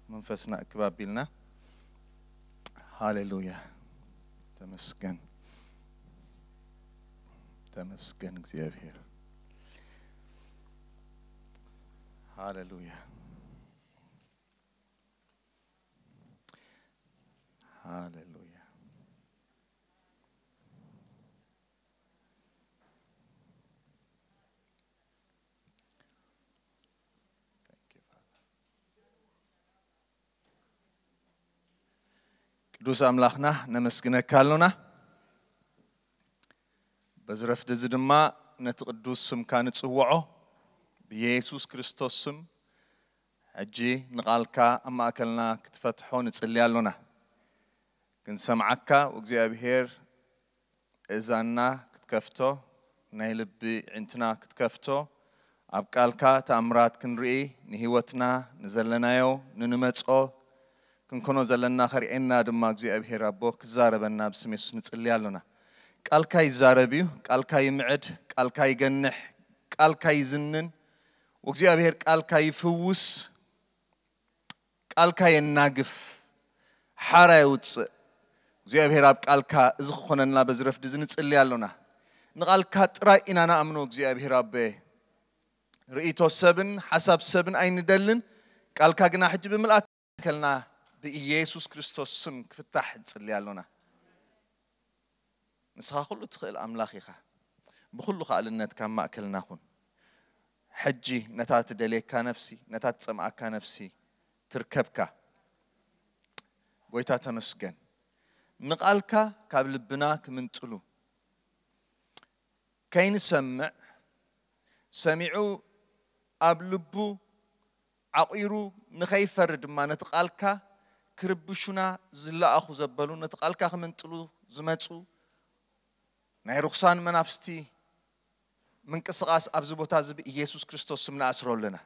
መንፈስና እክብ ኣቢልና። ሃሌሉያ። ተመስገን። ተመስገን እግዚኣብሔር። ሃሌሉያ። ሃሌሉያ። Thank you, Father. ቅዱስ ኣምላኽና ነመስግነካ ኣሎና። በዚ ረፍዲ እዚ ድማ ነቲ ቅዱስ ስምካ ንጽውዖ። ብየሱስ ክርስቶስ ስም ሕጂ ንቓልካ ኣብ ማእከልና ክትፈትሖ ንጽሊ ኣሎና። ክንሰምዓካ እግዚኣብሔር እዛንና ክትከፍቶ፣ ናይ ልቢ ዕንትና ክትከፍቶ፣ ኣብ ቃልካ ተኣምራት ክንርኢ፣ ንህይወትና፣ ንዘለናዮ፣ ንንመጾ፣ ክንኮኖ ዘለና ከርእየና ድማ እግዚኣብሔር ኣቦ ክዛረበና ብስም የሱስ ንጽሊ ኣሎና። ቃልካ ይዛረብ እዩ፣ ቃልካ ይምዕድ፣ ቃልካ ይገንሕ፣ ቃልካ ይዝንን፣ እግዚኣብሔር ቃልካ ይፍውስ፣ ቃልካ የናግፍ፣ ሓራ የውፅእ። እግዚኣብሔር ኣብ ቃልካ እዚ ክኾነልና በዚ ረፍዲ እዚ ንጽሊ ኣሎና። ንቓልካ ጥራይ ኢና ንኣምኖ እግዚኣብሔር ኣቦ። ርእይቶ ሰብን ሓሳብ ሰብን ኣይንደልን። ቃልካ ግና ሕጂ ብምልኣት ከልና ብኢየሱስ ክርስቶስ ስም ክፍታሕ ንጽሊ ኣሎና። ንስኻ ኩሉ ትኽእል ኣምላኽ ኢኻ። ብኹሉ ከኣልነት ካብ ማእከልና ኩን። ሕጂ ነታ ትደልየካ ነፍሲ፣ ነታ ትጸምኣካ ነፍሲ ትርከብካ። ጎይታ ተመስገን። ንቓልካ ካብ ልብና ክምንጥሉ ከይንሰምዕ፣ ሰሚዑ ኣብ ልቡ ዓቑሩ ንኸይፈሪ ድማ ነቲ ቃልካ ክርብሹና ዝለኣኹ ዘበሉ፣ ነቲ ቃልካ ክምንጥሉ ዝመጹ ናይ ርኹሳን መናፍስቲ ምንቅስቓስ ኣብዚ ቦታ እዚ ብኢየሱስ ክርስቶስ ስም ንኣስሮ ኣለና።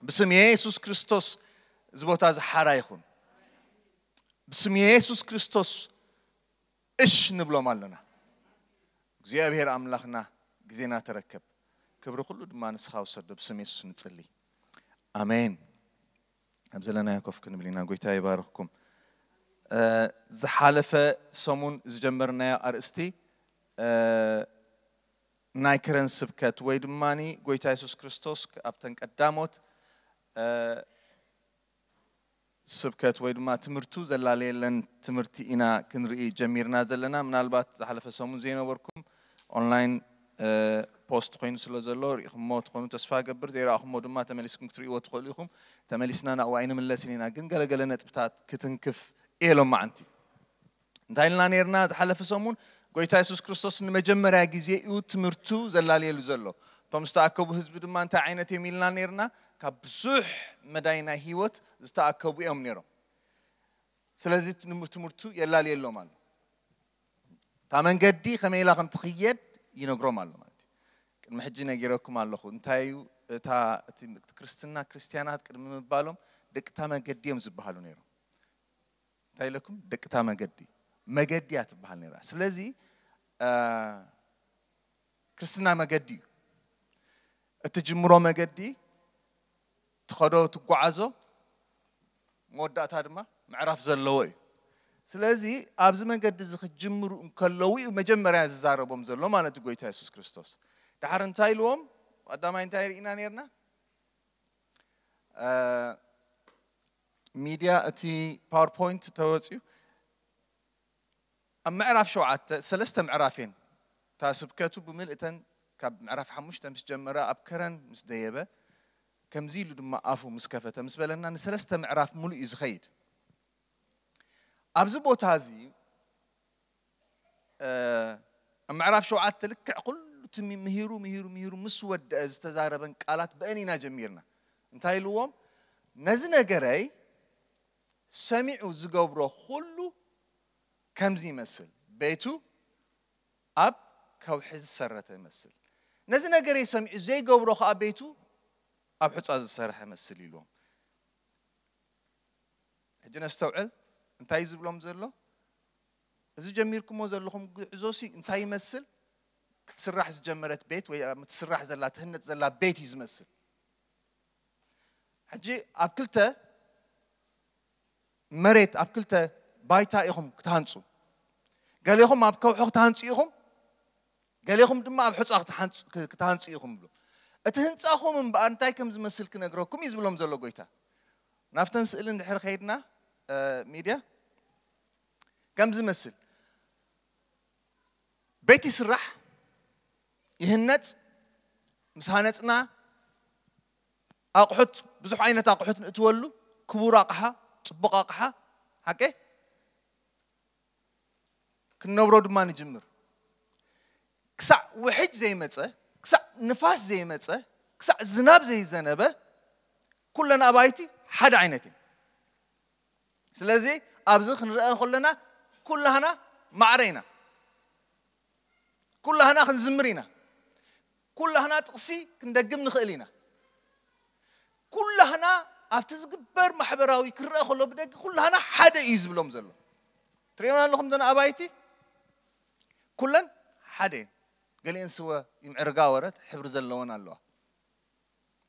ብስም የሱስ ክርስቶስ እዚ ቦታ እዚ ሓራ ይኹን። ብስም የሱስ ክርስቶስ እሽ ንብሎም ኣለና። እግዚኣብሔር ኣምላኽና ግዜና ተረከብ። ክብሪ ኩሉ ድማ ንስኻ ውሰዶ። ብስም የሱስ ንጽሊ። ኣሜን። ኣብ ዘለናዮ ኮፍ ክንብል ኢና። ጎይታ ይባርኽኩም። እ፣ ዝሓለፈ ሰሙን ዝጀመርናዮ ኣርእስቲ፣ እ፣ ናይ ከረን ስብከት ወይ ድማ ጎይታ የሱስ ክርስቶስ ኣብተን ቀዳሞት፣ እ፣ ስብከት ወይ ድማ ትምህርቱ ዘላለየለን ትምህርቲ ኢና ክንርኢ ጀሚርና ዘለና። ምናልባት ዝሓለፈ ሰሙን ዘይነበርኩም ኦንላይን፣ እ፣ ፖስት ኮይኑ ስለ ዘሎ ርኢኹሞ ትኾኑ ተስፋ ገብር። ዘይረኣኹሞ ድማ ተመሊስኩም ክትርእይዎ ትኽእሉ ኢኹም። ተመሊስና ናብኡ ኣይንምለስን ኢና፣ ግን ገለገለ ነጥብታት ክትንክፍ እየ ሎማዓንቲ። እንታይ ኢልና ነይርና? ዝሓለፈ ሰሙን ጎይታ የሱስ ክርስቶስ ንመጀመርያ ግዜ እዩ ትምህርቱ ዘላለየሉ ዘሎ። እቶም ዝተኣከቡ ህዝቢ ድማ እንታይ ዓይነት እዮም ኢልና ነይርና? ካብ ብዙሕ መዳይ ናይ ህይወት ዝተኣከቡ እዮም ነይሮም። ስለዚ ትም-፣ ትምህርቱ የላልየሎም ኣሎ። እታ መንገዲ ከመይ ኢላ ከም ትኽየድ ይነግሮም ኣሎ ማለት እዩ። ቅድሚ ሕጂ ነጊረኩም ኣለኹ። እንታይ እዩ እታ፣ እቲ ክርስትና፣ ክርስትያናት ቅድሚ ምባሎም ደቂ እታ መገዲ እዮም ዝበሃሉ ነይሮም። እንታይ ኢለኩም? ደቂ እታ መገዲ። መገዲ እያ ትበሃል ነይራ። ስለዚ፣ እ፣ ክርስትና መገዲ እዩ። እትጅምሮ መገዲ፣ ትኸዶ፣ ትጓዓዞ፣ መወዳእታ ድማ ምዕራፍ ዘለዎ እዩ። ስለዚ ኣብዚ መገዲ እዚ ክትጅምሩ እንከለዉ እዩ መጀመርያ ዝዛረቦም ዘሎ ማለት እዩ ጎይታ የሱስ ክርስቶስ። ደሓር እንታይ ኢልዎም? ቀዳማይ እንታይ ርኢና ነይርና? እ፣ ሚድያ እቲ ፓወርፖይንት ተወፅዩ ኣብ ምዕራፍ ሸውዓተ፣ ሰለስተ ምዕራፍ እየን። እታ ስብከቱ ብምልእተን ካብ ምዕራፍ ሓሙሽተ ምስ ጀመረ፣ ኣብ ከረን ምስ ደየበ፣ ከምዚ ኢሉ ድማ ኣፉ ምስ ከፈተ ምስ በለና፣ ንሰለስተ ምዕራፍ ሙሉእ እዩ ዝኸይድ። ኣብዚ ቦታ እዚ፣ እ፣ ኣብ ምዕራፍ ሸውዓተ ልክዕ ኩሉ እቲ ሚ-፣ ምሂሩ፣ ምሂሩ፣ ምሂሩ ምስ ወደአ ዝተዛረበን ቃላት ብአን ኢና ጀሚርና። እንታይ ኢልዎም? ነዚ ነገረይ ሰሚዑ ዝገብሮ ኩሉ ከምዚ ይመስል። ቤቱ ኣብ ከውሒ ዝሰረተ ይመስል። ነዚ ነገረይ ሰሚዑ ዘይገብሮ ከኣ ቤቱ ኣብ ሑጻ ዝሰርሐ ይመስል ኢልዎም። ሕጂ ነስተውዕል፣ እንታይ እዩ ዝብሎም ዘሎ? እዚ ጀሚርኩሞ ዘለኹም ጉዕዞሲ እንታይ ይመስል? ክትስራሕ ዝጀመረት ቤት ወይ ኣብ ትስራሕ ዘላ፣ ትህነጽ ዘላ ቤት እዩ ዝመስል። ሕጂ ኣብ ክልተ መሬት ኣብ ክልተ ባይታ ኢኹም ክትሃንፁ። ገሌኹም ኣብ ከውሒ ክትሃንፁ ኢኹም፣ ገሌኹም ድማ ኣብ ሑፃ ክትሃንፁ ኢኹም ብሎ። እቲ ህንፃኹም እምበኣር እንታይ ከም ዝመስል ክነግረኩም እዩ ዝብሎም ዘሎ ጎይታ። ናብተን ስእሊ እንድሕር ከይድና ሚድያ ከም ዝመስል ቤት ይስራሕ፣ ይህነፅ። ምስ ሃነፅና ኣቑሑት፣ ብዙሕ ዓይነት ኣቑሑት ንእትወሉ፣ ክቡር ኣቕሓ፣ ፅቡቕ ኣቕሓ፣ ሓቀ ክንነብሮ ድማ ንጅምር። ክሳዕ ውሕጅ ዘይመፀ፣ ክሳዕ ንፋስ ዘይመፀ፣ ክሳዕ ዝናብ ዘይዘነበ፣ ኩለን ኣባይቲ ሓደ ዓይነት እየን። ስለዚ ኣብዚ ክንረአ ከለና ኩላህና ማዕረ ኢና፣ ኩላህና ክንዝምር ኢና፣ ኩላህና ጥቕሲ ክንደግም ንኽእል ኢና። ኩላህና ኣብቲ ዝግበር ማሕበራዊ ክረአ ከሎ ብደገ ኩላህና ሓደ እዩ ዝብሎም ዘሎ። ትሪእና ኣለኹም ዘና ኣባይቲ ኩለን ሓደ እየን። ገሊአን ስወ ይምዕርጋ ወረት ሕብሪ ዘለወን ኣለዋ።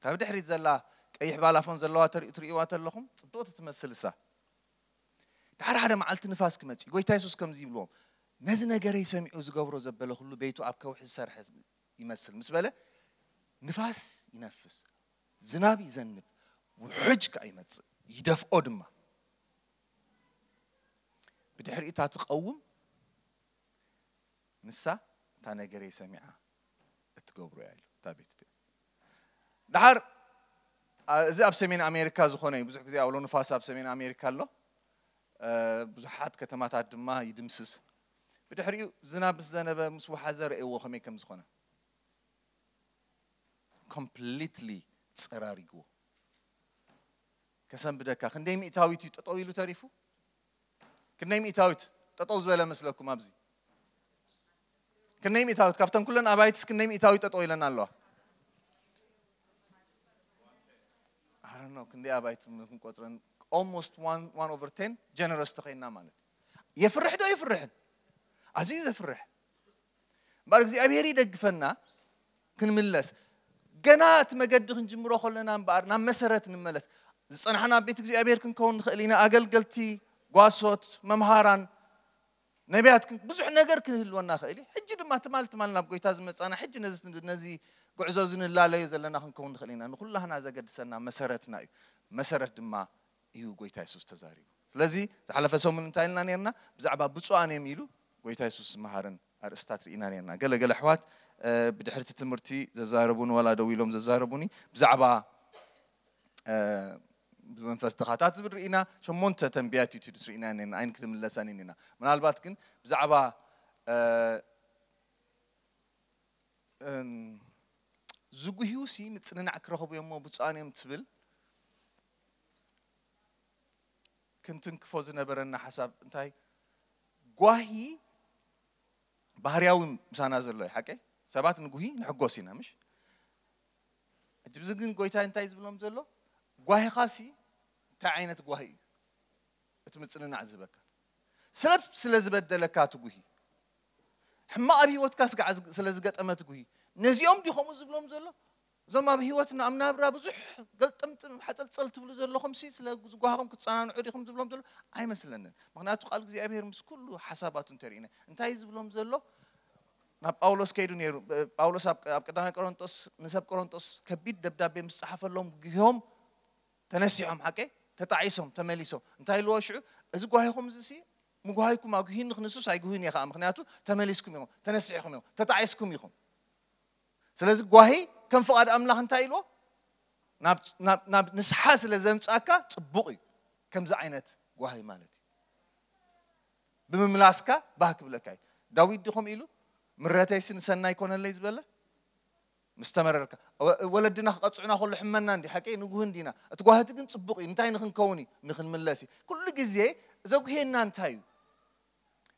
ካብ ድሕሪት ዘላ ቀይሕ ባላፎን ዘለዋ ተሪኡ ትርእይዋ ተለኹም ጽብቕቲ ትመስል እሳ። ድሓር ሓደ መዓልቲ ንፋስ ክመጽእ ጎይታ የሱስ ከምዚ ይብልዎም፣ ነዚ ነገረይ ሰሚዑ ዝገብሮ ዘበለ ኩሉ ቤቱ ኣብ ከውሒ ዝሰርሐ ይመስል ምስ በለ፣ ንፋስ ይነፍስ፣ ዝናብ ይዘንብ፣ ውሕጅ ከኣ ይመጽእ፣ ይደፍኦ ድማ። ብድሕሪኡ እታ ትቐውም ንሳ እታ ነገረይ ሰሚዓ እትገብሮ እያ ኢሉ እታ ቤት እቲኣ። ድሓር እዚ ኣብ ሰሜን ኣሜሪካ ዝኾነ እዩ። ብዙሕ ግዜ ኣውሎ ንፋስ ኣብ ሰሜን ኣሜሪካ ኣሎ። ብዙሓት ከተማታት ድማ ይድምስስ። ብድሕሪኡ ዝናብ ምስ ዘነበ ምስ ወሓዘ ረእይዎ ከመይ ከም ዝኾነ። ኮምፕሊትሊ ጸራሪግዎ። ከሰንብደካ ክንደይ ሚእታዊት እዩ ጠጠው ኢሉ ተሪፉ? ክንደይ ሚእታዊት ጠጠው ዝበለ መስለኩም ኣብዚ? ክንደይ ሚእታዊት ካብተን ኩለን ኣባይትስ ክንደይ ሚእታዊት ጠጠው ኢለን ኣለዋ? I don't know ክንደይ ኣባይት ክንቆፅረን almost one over ten generous ተኸይና ማለት የፍርሕ ዶ የፍርሕን? ኣዝዩ ዘፍርሕ። እምበኣር እግዚኣብሔር ይደግፈና ክንምለስ። ገና እቲ መገዲ ክንጅምሮ ከለና እምበኣር ናብ መሰረት ንመለስ። ዝጸናሕና ኣብ ቤት እግዚኣብሔር ክንከውን ንኽእል ኢና። ኣገልገልቲ፣ ጓሶት፣ መምሃራን፣ ነቢያት ክን- ብዙሕ ነገር ክንህልወና ኽእል እዩ። ሕጂ ድማ ትማል ትማል ናብ ጎይታ ዝመጻና ሕጂ ነዚ ነዚ ጉዕዞ እዚ ንላለዮ ዘለና ክንከውን ንኽእል ኢና። ንኹላህና ዘገድሰና መሰረትና እዩ። መሰረት ድማ እዩ ጎይታ የሱስ ተዛሪቡ። ስለዚ ዝሓለፈ ሰሙን እንታይ ኢልና ነርና? ብዛዕባ ብፁዓን እዮም ኢሉ ጎይታ የሱስ ዝመሃረን ኣርእስታት ርኢና ነርና። ገለ ገለ ኣሕዋት ብድሕርቲ ትምህርቲ ዘዛረቡኒ ዋላ ደው ኢሎም ዘዛረቡኒ ብዛዕባ ብመንፈስ ድኻታት ዝብል ርኢና። ሸሞንተ ተንቢያት ዩቲድስ ርኢና ነርና። ኣይን ክትምለሰን ኢና። ምናልባት ግን ብዛዕባ ዝጉህዩ ሲ ምጽንናዕ ክረኽቡ እዮም ብፁዓን እዮም ትብል። ክንትንክፎ ዝነበረና ሓሳብ እንታይ? ጓሂ ባህርያዊ ምሳና ዘሎ እዩ። ሓቀይ ሰባት ንጉሂ ንሕጎስ ኢና ምሽ? ሕጂ ብዚ ግን ጎይታ እንታይ ዝብሎም ዘሎ? ጓሂኻ ሲ እንታይ ዓይነት ጓሂ እዩ? እቲ ምጽንናዕ ዝህበካ ሰብ ስለ ዝበደለካ ትጉሂ፣ ሕማቕ ኣብ ህይወትካ ስጋዕ ስለ ዝገጠመ ትጉሂ። ነዚኦም ዲ ከምኡ ዝብሎም ዘሎ? እዞም ኣብ ህይወትና ኣብ ናብራ ብዙሕ ገልጥምጥም ሓፀልፀል ትብሉ ዘለኹም ሲ ስለ ዝጓሃኹም ክትፀናንዑ ዲኹም ዝብሎም ዘሎ? ኣይመስለንን። ምክንያቱ ቃል እግዚኣብሔር ምስ ኩሉ ሓሳባቱ እንተርኢነ እንታይ ዝብሎም ዘሎ? ናብ ጳውሎስ ከይዱ ነይሩ። ጳውሎስ ኣብ ቀዳማይ ቆሮንጦስ ንሰብ ቆሮንጦስ ከቢድ ደብዳቤ ምስ ፀሓፈሎም ጉሂዮም ተነሲሖም ሓቀይ ተጣዒሶም ተመሊሶም እንታይ ኢልዎ ሽዑ? እዚ ጓሂኹም እዚ ሲ ምጉሃይኩም ኣጉሂኒ ክንሱስ ኣይጉህን እየ ከዓ ምክንያቱ ተመሊስኩም ኢኹም ተነሲሕኩም ኢኹም ተጣዒስኩም ኢኹም። ስለዚ ጓሂ ከም ፍቓድ ኣምላኽ እንታይ ኢልዎ ናብ ንስሓ ስለ ዘምፃካ ፅቡቕ እዩ። ከምዚ ዓይነት ጓሂ ማለት እዩ። ብምምላስካ ባህ ክብለካ እዩ። ዳዊት ድኹም ኢሉ ምረተይሲ ንሰናይ ኮነለይ ዝበለ ምስ ተመረርካ ወለድና ክቐፅዑና ከሎ ሕመና እንዲ ሓቂ ንጉህ እንዲና እቲ ጓህቲ ግን ፅቡቕ እዩ። እንታይ ንክንከውን እዩ ንክንምለስ እዩ። ኩሉ ግዜ ዘጉሄና እንታይ እዩ?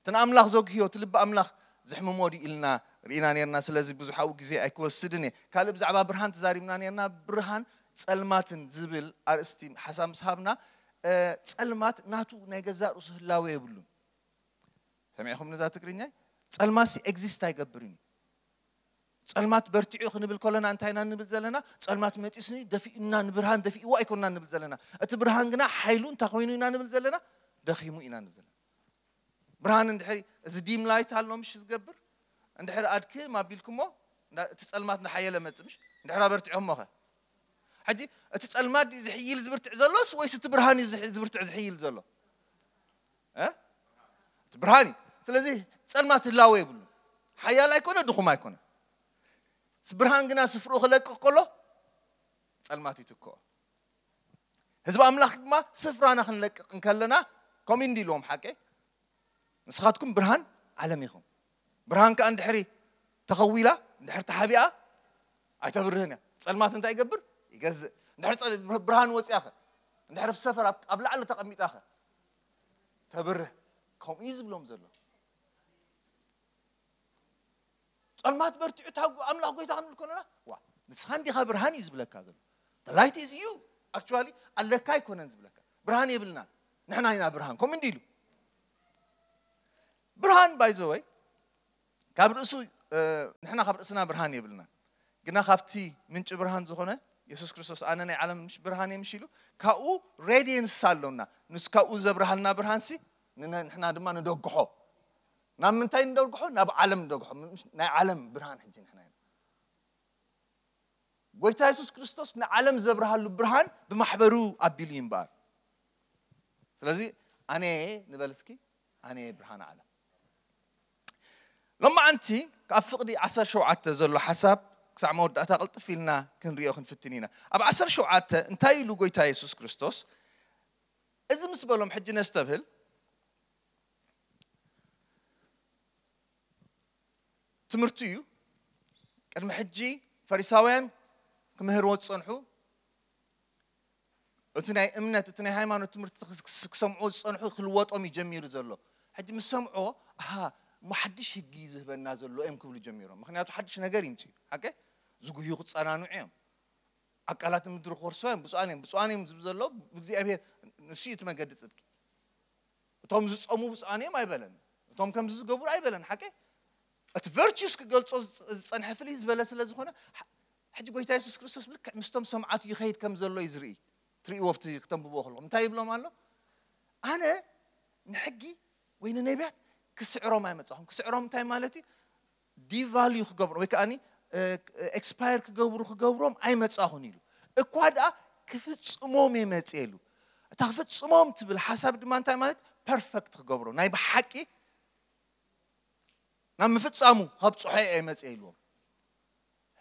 እቲ ንኣምላኽ ዘጉህዮ እቲ ልቢ ኣምላኽ ዘሕምሞ ድዩ ኢልና ርኢና ነርና። ስለዚ ብዙሓዊ ግዜ ኣይክወስድን እየ። ካልእ ብዛዕባ ብርሃን ተዛሪብና ነርና። ብርሃን ጸልማትን ዝብል ኣርእስቲ ሓሳብ ምስ ሃብና ጸልማት ናቱ ናይ ገዛእ ርእሱ ህላወ የብሉን። ሰሚዕኹም ነዛ ትግርኛ? ጸልማሲ ኤግዚስት ኣይገብርን እዩ። ጸልማት በርቲዑ ክንብል ከለና እንታይ ኢና ንብል ዘለና? ጸልማት መጺስኒ ደፊኡና፣ ንብርሃን ደፊእዎ ኣይኮንና ንብል ዘለና። እቲ ብርሃን ግና ሓይሉ እንታይ ኮይኑ ኢና ንብል ዘለና? ደኺሙ ኢና ንብል ዘለና። ብርሃን እንድሕሪ፣ እዚ ዲም ላይት ኣሎ ምሽ ዝገብር፣ እንድሕሪ ኣድክም ኣቢልኩሞ፣ እንዳ- እቲ ጸልማት እንዳሓየለ መጽእ ምሽ? እንድሕር ኣበርቲዖሞ ኸ? ሕጂ እቲ ጸልማት ድዩ ዝሕይል ዝብርትዕ ዘሎስ ወይስ እቲ ብርሃን እዩ ዝሕ- ዝብርትዕ ዝሕይል ዘሎ? እ? እቲ ብርሃን እዩ። ስለዚ ጸልማት ህላወ የብሉ። ሓያል ኣይኮነ፣ ድኹም ኣይኮነ። ብርሃን ግና ስፍርኡ ክለቅቕ ከሎ ጸልማት ይትክኦ። ህዝቢ ኣምላኽ ድማ ስፍራና ክንለቅቕ እንከለና ከምኡ እንዲ ኢልዎም ሓቀ፣ ንስኻትኩም ብርሃን ዓለም ኢኹም። ብርሃን ከኣ እንድሕሪ ተኸዊላ፣ እንድሕር ተሓቢኣ ኣይተብርህን እያ። ጸልማት እንታይ ይገብር? ይገዝእ። እንድሕር ጸል- ብርሃን ወፂኣኸ፣ እንድሕር ኣብ ሰፈር ኣብ- ኣብ ላዕሊ ተቐሚጣኸ ተብርህ። ከምኡ እዩ ዝብሎም ዘሎ። ጸልማት በርቲዑ፣ እታ ኣምላኽ ጎይታ ክንብል ከለና፣ ዋ፣ ንስኻ እንዲኻ ብርሃን እዩ ዝብለካ ዘሎ። The light is you. Actually ኣለካ ኣይኮነን ዝብለካ። ብርሃን የብልናን፣ ንሕና ኢና ብርሃን። ከምኡ እንዲ ኢሉ ብርሃን ባይዘወይ ካብ ርእሱ፣ ንሕና ካብ ርእስና ብርሃን የብልናን፣ ግና ካብቲ ምንጪ ብርሃን ዝኾነ የሱስ ክርስቶስ፣ ኣነ ናይ ዓለም ብርሃን እየ ምሽ ኢሉ፣ ካብኡ ሬዲየንስ ኣሎና። ንስ ካብኡ ዘብርሃልና ብርሃንሲ ንነ- ንሕና ድማ ንደግሖ። ናብ ምንታይ ንደግሖ? ናብ ዓለም ንደግሖ። ምስ- ናይ ዓለም ብርሃን ሕጂ ንሕና ኢና። ጎይታ የሱስ ክርስቶስ ንዓለም ዘብርሃሉ ብርሃን ብማሕበሩ ኣቢሉ እዩ እምበኣር። ስለዚ ኣነ ንበል እስኪ፣ ኣነ ብርሃን ዓለም። ሎማዓንቲ ካብ ፍቕዲ ዓሰርተ ሸውዓተ ዘሎ ሓሳብ ክሳዕ መወዳእታ ቅልጥፍ ኢልና ክንሪኦ ክንፍትን ኢና። ኣብ ዓሰርተ ሸውዓተ እንታይ ኢሉ ጎይታ የሱስ ክርስቶስ? እዚ ምስ በሎም ሕጂ ነስተብህል። ትምህርቱ እዩ። ቅድሚ ሕጂ ፈሪሳውያን ክምህርዎ ዝጸንሑ፣ እቲ ናይ እምነት፣ እቲ ናይ ሃይማኖት ትምህርቲ ክስ- ክሰምዑ ዝጸንሑ ክልወጦም እዩ ጀሚሩ ዘሎ። ሕጂ ምስ ሰምዑ፣ ኣሃ፣ እሞ ሓድሽ ህጊ እዩ ዝህበና ዘሎ እዮም ክብሉ ጀሚሮም። ምኽንያቱ ሓድሽ ነገር ይምጽእ እዩ። ሓቀ? ዝጉህዩ ክጸናንዑ እዮም። ኣቃላት ምድሪ ክወርሶ እዮም። ብፁዓን እዮም። ብፁዓን እዮም ዝብል ዘሎ ብእግዚኣብሔር፣ ንሱ እዩ እቲ መገዲ ጽድቂ። እቶም ዝጸሙ ብፁዓን እዮም ኣይበለን። እቶም ከምዚ ዝገብሩ ኣይበለን። ሓቀ? እቲ ቨርቹስ ክገልጾ ዝጸ- ዝጸንሐ ፍልይ ዝበለ ስለ ዝኾነ፣ ሕ- ሕጂ ጎይታ የሱስ ክርስቶስ ብልክዕ ምስቶም ሰምዓቱ ይኸይድ ከም ዘሎ እዩ ዝርኢ። ትርእይዎ ኣብቲ ክተንብብዎ ከለኹም እንታይ ይብሎም ኣሎ? ኣነ ንሕጊ ወይ ንነቢያት ክስዕሮም ኣይመጻኹም። ክስዕሮም እንታይ ማለት እዩ? ዲቫልዩ ክገብሮም ወይ ከኣኒ ኤክስፓየር ክገብሩ ክገብሮም ኣይመጻኹን ኢሉ። እኳ ደኣ ክፍጽሞም እየ መጽእ ኢሉ። እታ ክፍጽሞም ትብል ሓሳብ ድማ እንታይ ማለት? ፐርፈክት ክገብሮ፣ ናይ ብሓቂ ናብ ምፍጻሙ ከብጽሖ እየ መጽእ ኢልዎም።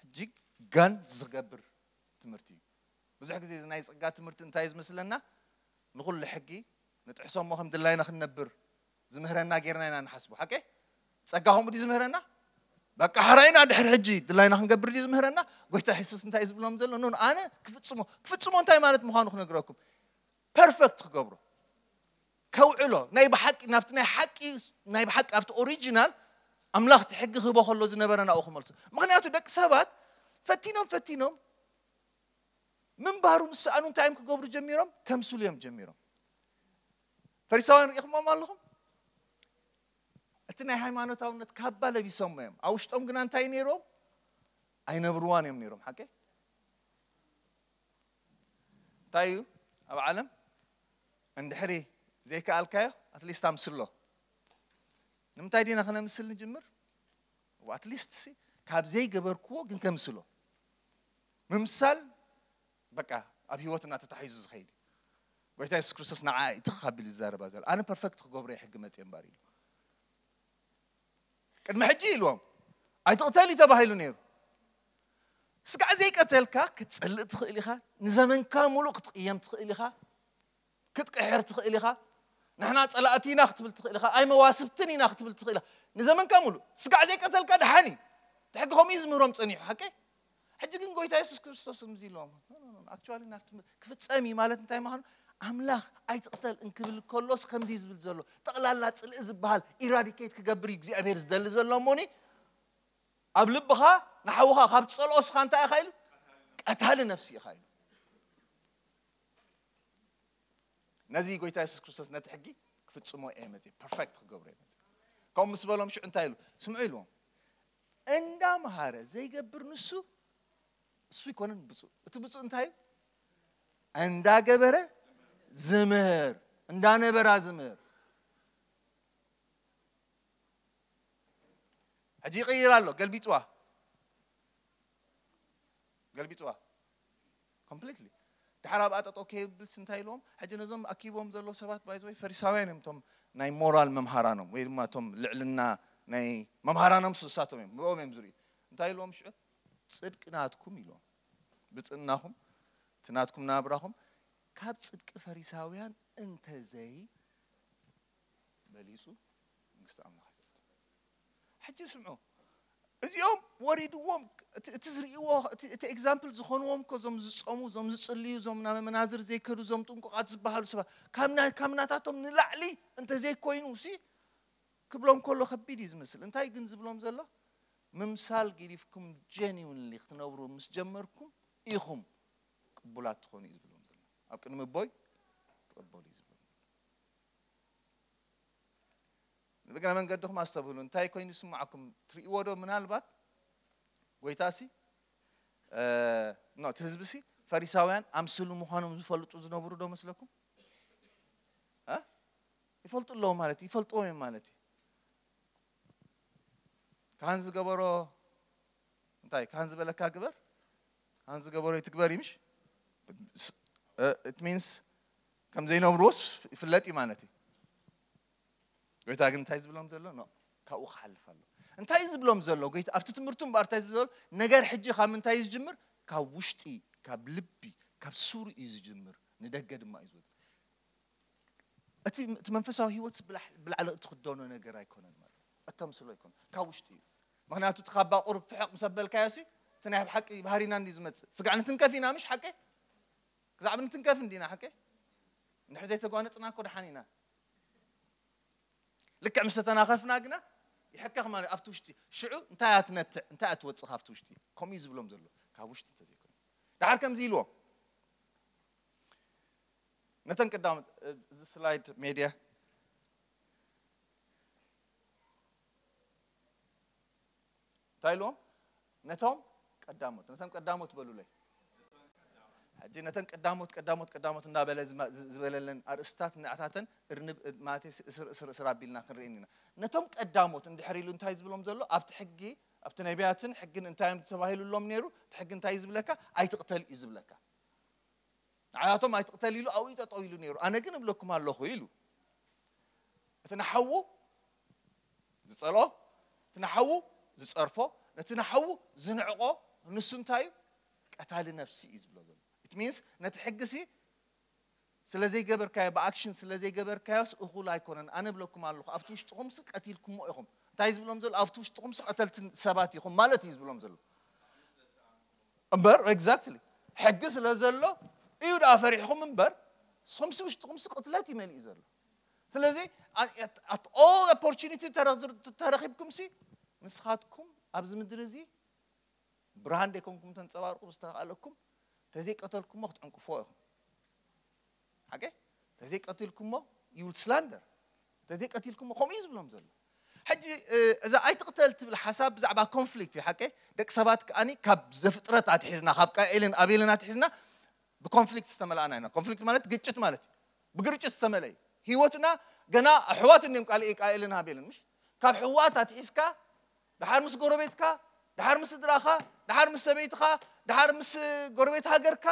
ሕጂ ጋን ዝገብር ትምህርቲ እዩ። ብዙሕ ግዜ እዚ ናይ ጸጋ ትምህርቲ እንታይ እዩ ዝመስለና? ንኹሉ ሕጊ ንጥሕሶ እሞ ከም ድላይና ክንነብር ዝምህረና ጌርና ኢና ንሓስቦ። ሓቀ? ጸጋ ከምኡ ድዩ ዝምህረና? በቃ ሕራይና ድሕሪ ሕጂ ድላይና ክንገብር ድዩ ዝምህረና? ጎይታ የሱስ እንታይ እዩ ዝብሎም ዘሎ? ኖ፣ ኣነ ክፍጽሞ። ክፍጽሞ እንታይ ማለት ምዃኑ ክነግረኩም። ፐርፈክት ክገብሮ። ከውዕሎ። ናይ ብሓቂ፣ ናብቲ ናይ ሓቂ፣ ናይ ብሓቂ ኣብቲ ኦሪጂናል ኣምላኽ እቲ ሕጊ ክህቦ ከሎ ዝነበረ ናብኡ ክመልሶ። ምኽንያቱ ደቂ ሰባት ፈቲኖም፣ ፈቲኖም፣ ምንባሩ ምስ ሰኣኑ እንታይ እዮም ክገብሩ ጀሚሮም? ከምስሉ እዮም ጀሚሮም። ፈሪሳውያን ርኢኹሞም ኣለኹም? እቲ ናይ ሃይማኖታውነት ካባ ለቢሶሞ እዮም። ኣብ ውሽጦም ግና እንታይ ነይሮም? ኣይነብርዋን እዮም ነይሮም። ሓቀ? እንታይ እዩ ኣብ ዓለም? እንድሕሪ ዘይከኣልካዮ፣ ኣትሊስት ኣምስሎ። ንምንታይ ዲና ከነምስል ንጅምር? ኣትሊስት ሲ ካብ ዘይገበርክዎ ግን ከምስሎ። ምምሳል በቃ ኣብ ህይወትና ተታሒዙ ዝኸይድ እዩ። ጎይታ የሱስ ክርስቶስ ንዓ እዩ ትኽ ኣቢሉ ዝዛረባ ዘሎ። ኣነ ፐርፈክት ክገብሮ እየ ሕጊ መፅየ እምበር ኢሉ። ቅድሚ ሕጂ ኢልዎም ኣይትቕተል እዩ ተባሂሉ ነይሩ። ስጋዕ ዘይቀተልካ ክትጸልእ ትኽእል ኢኻ። ንዘመንካ ሙሉእ ክትቕየም ትኽእል ኢኻ። ክትቅሕር ትኽእል ኢኻ። ንሕና ጸላእቲ ኢና ክትብል ትኽእል ኢኻ። ኣይ መዋስብትን ኢና ክትብል ትኽእል ኢኻ። ንዘመንካ ሙሉእ ስጋዕ ዘይቀተልካ ደሓን እዩ። እቲ ሕጊ ከምኡ እዩ ዝምህሮም ጸኒሑ። ሓቂ? ሕጂ ግን ጎይታ የሱስ ክርስቶስ ከምዚ ኢልዎም። ኣክቹዋሊ ናብቲ ክፍጸም እዩ ማለት እንታይ ምዃኑ ኣምላኽ ኣይትቕተል እንክብል ከሎስ ከምዚ እዩ ዝብል ዘሎ። ጠቕላላ ጽልኢ ዝበሃል ኢራዲኬት ክገብር እዩ እግዚኣብሔር ዝደሊ ዘሎ እሞኒ ኣብ ልብኻ ንሓውኻ ካብ ትጸልኦ ስኻ እንታይ ኢኻ ኢሉ? ቀታሊ ነፍሲ ኢኻ ኢሉ። ነዚ ጎይታ የሱስ ክርስቶስ ነቲ ሕጊ ክፍጽሞ እየ መጽእ፣ ፐርፌክት ክገብሮ እየ መጽእ። ከምኡ ምስ በሎም ሽዑ እንታይ ኢሉ? ስምዑ ኢልዎም። እንዳምሃረ ዘይገብር ንሱ፣ እሱ ኣይኮነን ብፁዕ። እቲ ብፁዕ እንታይ እዩ? እንዳገበረ ዝምህር፣ እንዳነበራ ዝምህር። ሕጂ ይቕይር ኣሎ፣ ገልቢጥዋ፣ ገልቢጥዋ ኮምፕሊትሊ። ድሓር ኣብኣ ጠጠው ከይብልስ እንታይ ኢልዎም? ሕጂ ነዞም ኣኪቦም ዘለዉ ሰባት፣ ባይዘወይ፣ ፈሪሳውያን እዮም። እቶም ናይ ሞራል መምሃራኖም ወይ ድማ እቶም ልዕልና ናይ መምሃራኖም ስሳቶም እዮም፣ ብኦም እዮም ዝርእዩ። እንታይ ኢልዎም ሽዑ? ጽድቂ ናትኩም ኢልዎም፣ ብጽእናኹም፣ እቲ ናትኩም ናብራኹም ካብ ጽድቂ ፈሪሳውያን እንተዘይ በሊጹ መንግስቲ ኣምላኽ ኣይትረክብን። ሕጂ ስምዑ፣ እዚኦም ወሪድዎም፣ እቲ እቲ ዝርእይዎ፣ እቲ እቲ ኤግዛምፕል ዝኾንዎም እኮ፣ እዞም ዝጸሙ፣ እዞም ዝጽልዩ፣ እዞም ናብ መናዝር ዘይከዱ፣ እዞም ጥንቁቓት ዝበሃሉ ሰባት፣ ካብ ናይ ካብ ናታቶም ንላዕሊ እንተዘይኮይኑ ሲ ክብሎም ከሎ ከቢድ እዩ ዝመስል። እንታይ ግን ዝብሎም ዘሎ? ምምሳል ገዲፍኩም ጀኒውንሊ ክትነብሩ ምስ ጀመርኩም ኢኹም ቅቡላት ትኾኑ እዩ ዝብሎም ዘሎ። ኣብ ቅድሚ ኣቦይ ትቕበሉ እዩ ዝብሎም ዘሎ። ንእግረ መንገድኹም ኣስተብህሉ። እንታይ ኮይኑ ይስምዓኩም? ትርእይዎ ዶ? ምናልባት ጎይታሲ፣ እ፣ ኖ፣ እቲ ህዝቢሲ ፈሪሳውያን ኣምስሉ ምዃኖም ዝፈልጡ ዝነበሩ ዶ መስለኩም? እ? ይፈልጡ ኣለዉ ማለት እዩ፣ ይፈልጥዎም እዮም ማለት እዩ። ካህን ዝገበሮ፣ እንታይ፣ ካህን ዝበለካ ግበር፣ ካህን ዝገበሮ ይትግበር እዩ፣ ምሽ? እ፣ it means ከም ዘይነብርዎስ ይፍለጥ እዩ ማለት እዩ። ጎይታ ግን እንታይ ዝብሎም ዘሎ? ኖ፣ ካብኡ ክሓልፍ ኣሎ። እንታይ ዝብሎም ዘሎ ጎይታ ኣብቲ ትምህርቱ እምበኣር? እንታይ ዝብሎ ዘሎ? ነገር ሕጂ ካብ ምንታይ እዩ ዝጅምር? ካብ ውሽጢ፣ ካብ ልቢ፣ ካብ ሱር እዩ ዝጅምር፣ ንደገ ድማ እዩ ዝወጽእ። እቲ እቲ መንፈሳዊ ህይወት ብላሕ- ብላዕሊ እትኽደኖ ነገር ኣይኮነን ማለት እዩ። እተምስሎ ኣይኮነን፣ ካብ ውሽጢ እዩ። ምኽንያቱ እቲ ካብ ባቑር ፍሕቕ ምስ ኣበልካዮ ሲ፣ እቲ ናይ ብሓቂ ባህሪና እንዲ ዝመጽእ። ስጋዕ ንትንከፍ ኢና፣ ምሽ ሓቂ? ክዛዕብ ንትንከፍ እንዲና ሓቂ? እንድሕር ዘይተጓነጽና እኮ ደሓን ኢና። ልክዕ ምስ ተተናኸፍና ግና ይሕከኽ ማለት ኣብቲ ውሽጢ። ሽዑ እንታይ ኣትነትዕ፣ እንታይ ኣትወጽእ ካብቲ ውሽጢ? ከምኡ እዩ ዝብሎም ዘሎ። ካብ ውሽጢ እንተዘይኮይኑ። ደሓር ከምዚ ኢልዎም። ነተን ቀዳሞት፣ እዚ ስላይድ ሜድያ እንታይ ኢልዎም? ነቶም ቀዳሞት፣ ነቶም ቀዳሞት በሉለይ። ሕጂ ነተን ቀዳሞት፣ ቀዳሞት፣ ቀዳሞት እንዳበለ ዝማ- ዝ- ዝበለለን ኣርእስታት ንኣታተን እርንብ ማለት እስር እስር እስር ኣቢልና ክንርኢ ኢና። ነቶም ቀዳሞት እንድሕር ኢሉ እንታይ ዝብሎም ዘሎ? ኣብቲ ሕጊ፣ ኣብቲ ነቢያትን ሕግን እንታይ እዮም ተባሂሉሎም ነይሩ? እቲ ሕጊ እንታይ እዩ ዝብለካ? ኣይትቕተል እዩ ዝብለካ። ንዓያቶም ኣይትቕተል ኢሉ ኣብኡ ጠጠው ኢሉ ነይሩ። ኣነ ግን እብለኩም ኣለኹ ኢሉ። እቲ ንሓዉ ዝጸልኦ፣ እቲ ንሓዉ ዝጸርፎ፣ ነቲ ንሓዉ ዝንዕቆ፣ ንሱ እንታይ እዩ? ቀታሊ ነፍሲ እዩ ዝብሎ ዘሎ። It means ነቲ ሕጊሲ ስለ ዘይገበርካዮ፣ ብኣክሽን ስለ ዘይገበርካዮስ እኹል ኣይኮነን። ኣነ እብለኩም ኣለኹ፣ ኣብቲ ውሽጥኹምሲ ቀቲልኩሞ ኢኹም። እንታይ ዝብሎም ዘሎ? ኣብቲ ውሽጥኹምሲ ቀተልቲ ሰባት ኢኹም ማለት እዩ ዝብሎም ዘሎ። እምበር፣ ኤግዛክትሊ፣ ሕጊ ስለ ዘሎ እዩ ደኣ ፈሪሕኹም እምበር፣ ንስኹምሲ ውሽጥኹምሲ ቅትለት እዩ መሊኡ ዘሎ። ስለዚ፣ at all opportunity ተረኽብኩምሲ፣ ንስኻትኩም ኣብዚ ምድሪ እዚ ብርሃን ደይኮንኩም ተንጸባርቁ ብዝተኻእለኩም፣ ተዘይቀተልኩሞ ክትዕንቅፍዎ ኢኹም። ሓቂ? ተዘይቀቲልኩሞ you will slander። ተዘይቀቲልኩሞ ከምኡ እዩ ዝብሎም ዘሎ። ሕጂ፣ እ፣ እዛ ኣይትቕተል ትብል ሓሳብ ብዛዕባ ኮንፍሊክት እዩ። ሓቂ? ደቂ ሰባት ከኣኒ ካብ ዘፍጥረት ኣትሒዝና፣ ካብ ቃኤልን ኣቤልን ኣትሒዝና ብኮንፍሊክት ዝተመልኣና ኢና። ኮንፍሊክት ማለት ግጭት ማለት እዩ። ብግርጭት ዝተመልአ እዩ። ህይወትና ገና ኣሕዋት እንዲም ቃል ቃኤልን ኣቤልን፣ ምሽ? ካብ ኣሕዋት ኣትሒዝካ፣ ደሓር ምስ ጎረቤትካ፣ ደሓር ምስ ስድራኻ፣ ደሓር ምስ ሰበይትኻ፣ ደሓር ምስ ጎረቤት ሃገርካ፣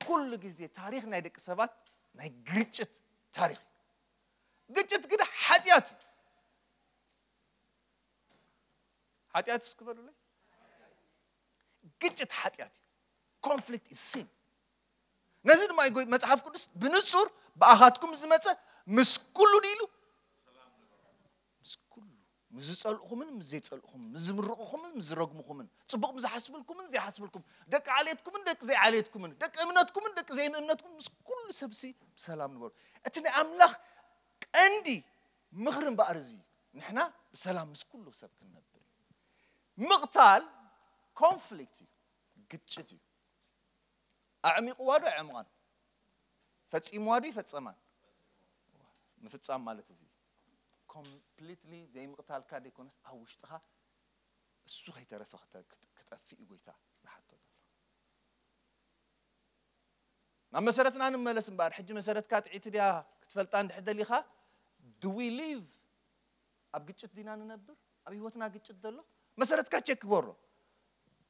ኩሉ ግዜ ታሪኽ ናይ ደቂ ሰባት ናይ ግርጭት ታሪኽ እዩ። ግጭት ግን ሓጢኣት እዩ። ሓጢኣት እስኪ በሉለይ። ግጭት ሓጢኣት እዩ። Conflict is sin። ነዚ ድማ እዩ ጎይ- መጽሓፍ ቅዱስ ብንጹር ብኣኻትኩም ዝመጸ ምስ ኩሉ ድኢሉ ምስ ኩሉ፣ ምስ ዝጸልእኹምን ምስ ዘይጸልእኹምን፣ ምስ ዝምርቕኹምን ምስ ዝረግምኹምን፣ ጽቡቕ ምስ ዝሓስብልኩምን ዘይሓስብልኩም፣ ደቂ ዓሌትኩምን ደቂ ዘይዓሌትኩምን፣ ደቂ እምነትኩምን ደቂ ዘይእምነትኩም፣ ምስ ኩሉ ሰብሲ ብሰላም ንበሩ። እቲ ናይ ኣምላኽ ቀንዲ ምኽሪ እምበኣር እዚ እዩ። ንሕና ብሰላም ምስ ኩሉ ሰብ ክንነብር እዩ። ምቕታል ኮንፍሊክት እዩ፣ ግጭት እዩ። ኣዕሚቕዋ ዶ ኣዕምቓን? ፈጺምዋ ዶ ይፈጸማን? ምፍጻም ማለት እዚ ኮምፕሊትሊ ዘይምቕታልካ ደይኮነስ ኣብ ውሽጥኻ እሱ ከይተረፈ ክተ- ክጠፍእ እዩ ጎይታ ዝሓቶ ዘሎ። ናብ መሰረትና ንመለስ እምበኣር፣ ሕጂ መሰረትካ ጥዒቲ ድያ ክትፈልጣ እንድሕር ደሊኻ፣ do we live? ኣብ ግጭት ዲና ንነብር? ኣብ ህይወትና ግጭት ዘሎ? መሰረትካ ቸክ ግበሮ።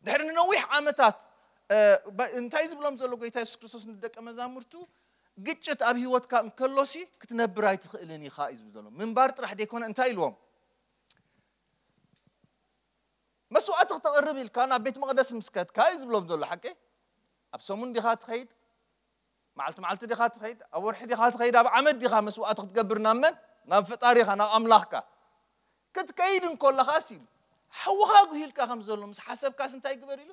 ድሕሪ ንነዊሕ ዓመታት እንታይ ዝብሎም ዘሎ ጎይታ የሱስ ክርስቶስ ንደቀ መዛሙርቱ? ግጭት ኣብ ህይወትካ እንከሎሲ ክትነብር ኣይትኽእልን ኢኻ እዩ ዝብል ዘሎ። ምንባር ጥራሕ ደይኮነ እንታይ ኢልዎም? መስዋእቲ ክተቕርብ ኢልካ ናብ ቤት መቕደስ ምስ ከድካ እዩ ዝብሎም ዘሎ። ሓቂ? ኣብ ሰሙን ዲኻ ትኸይድ? መዓልቲ መዓልቲ ዲኻ ትኸይድ? ኣብ ወርሒ ዲኻ ትኸይድ? ኣብ ዓመት ዲኻ መስዋእቲ ክትገብር ናብ መን? ናብ ፈጣሪኻ፣ ናብ ኣምላኽካ ክትከይድ እንኮለኻስ ኢሉ ሓውኻ ጉሂልካ ከም ዘሎ ምስ ሓሰብካስ እንታይ ግበር ኢሉ?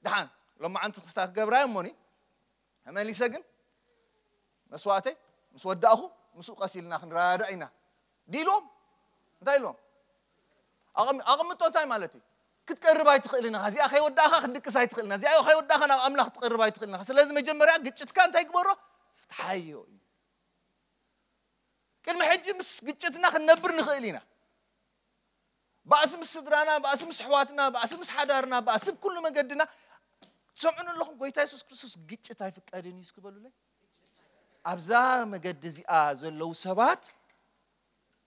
ደሓን ሎማዓንቲ ክስታ ክገብራ እሞኒ ተመሊሰ ግን መስዋእተይ ምስ ወዳእኹ ምስኡ ቀስ ኢልና ክንረዳዳእ ኢና ዲልዎም። እንታይ ኢልዎም? ኣቐም- ኣቐምጦ እንታይ ማለት እዩ? ክትቀርብ ኣይትኽእልን ኢኻ። እዚኣ ከይወዳእኻ ክትድቅስ ኣይትኽእልን ኢኻ። እዚኣ ከይወዳእኻ ናብ ኣምላኽ ክትቀርብ ኣይትኽእልን ኢኻ። ስለዚ መጀመርያ ግጭትካ እንታይ ግበሮ? ፍትሓዮ እዩ። ቅድሚ ሕጂ ምስ ግጭትና ክንነብር ንኽእል ኢና። ባእሲ ምስ ስድራና፣ ባእሲ ምስ ኣሕዋትና፣ ባእሲ ምስ ሓዳርና፣ ባእሲ ብኩሉ መገድና። ትሰምዑን ኣለኹም? ጎይታ የሱስ ክርስቶስ ግጭት ኣይፍቀድን እዩ እስኪ በሉለይ። ኣብዛ መገዲ እዚኣ ዘለዉ ሰባት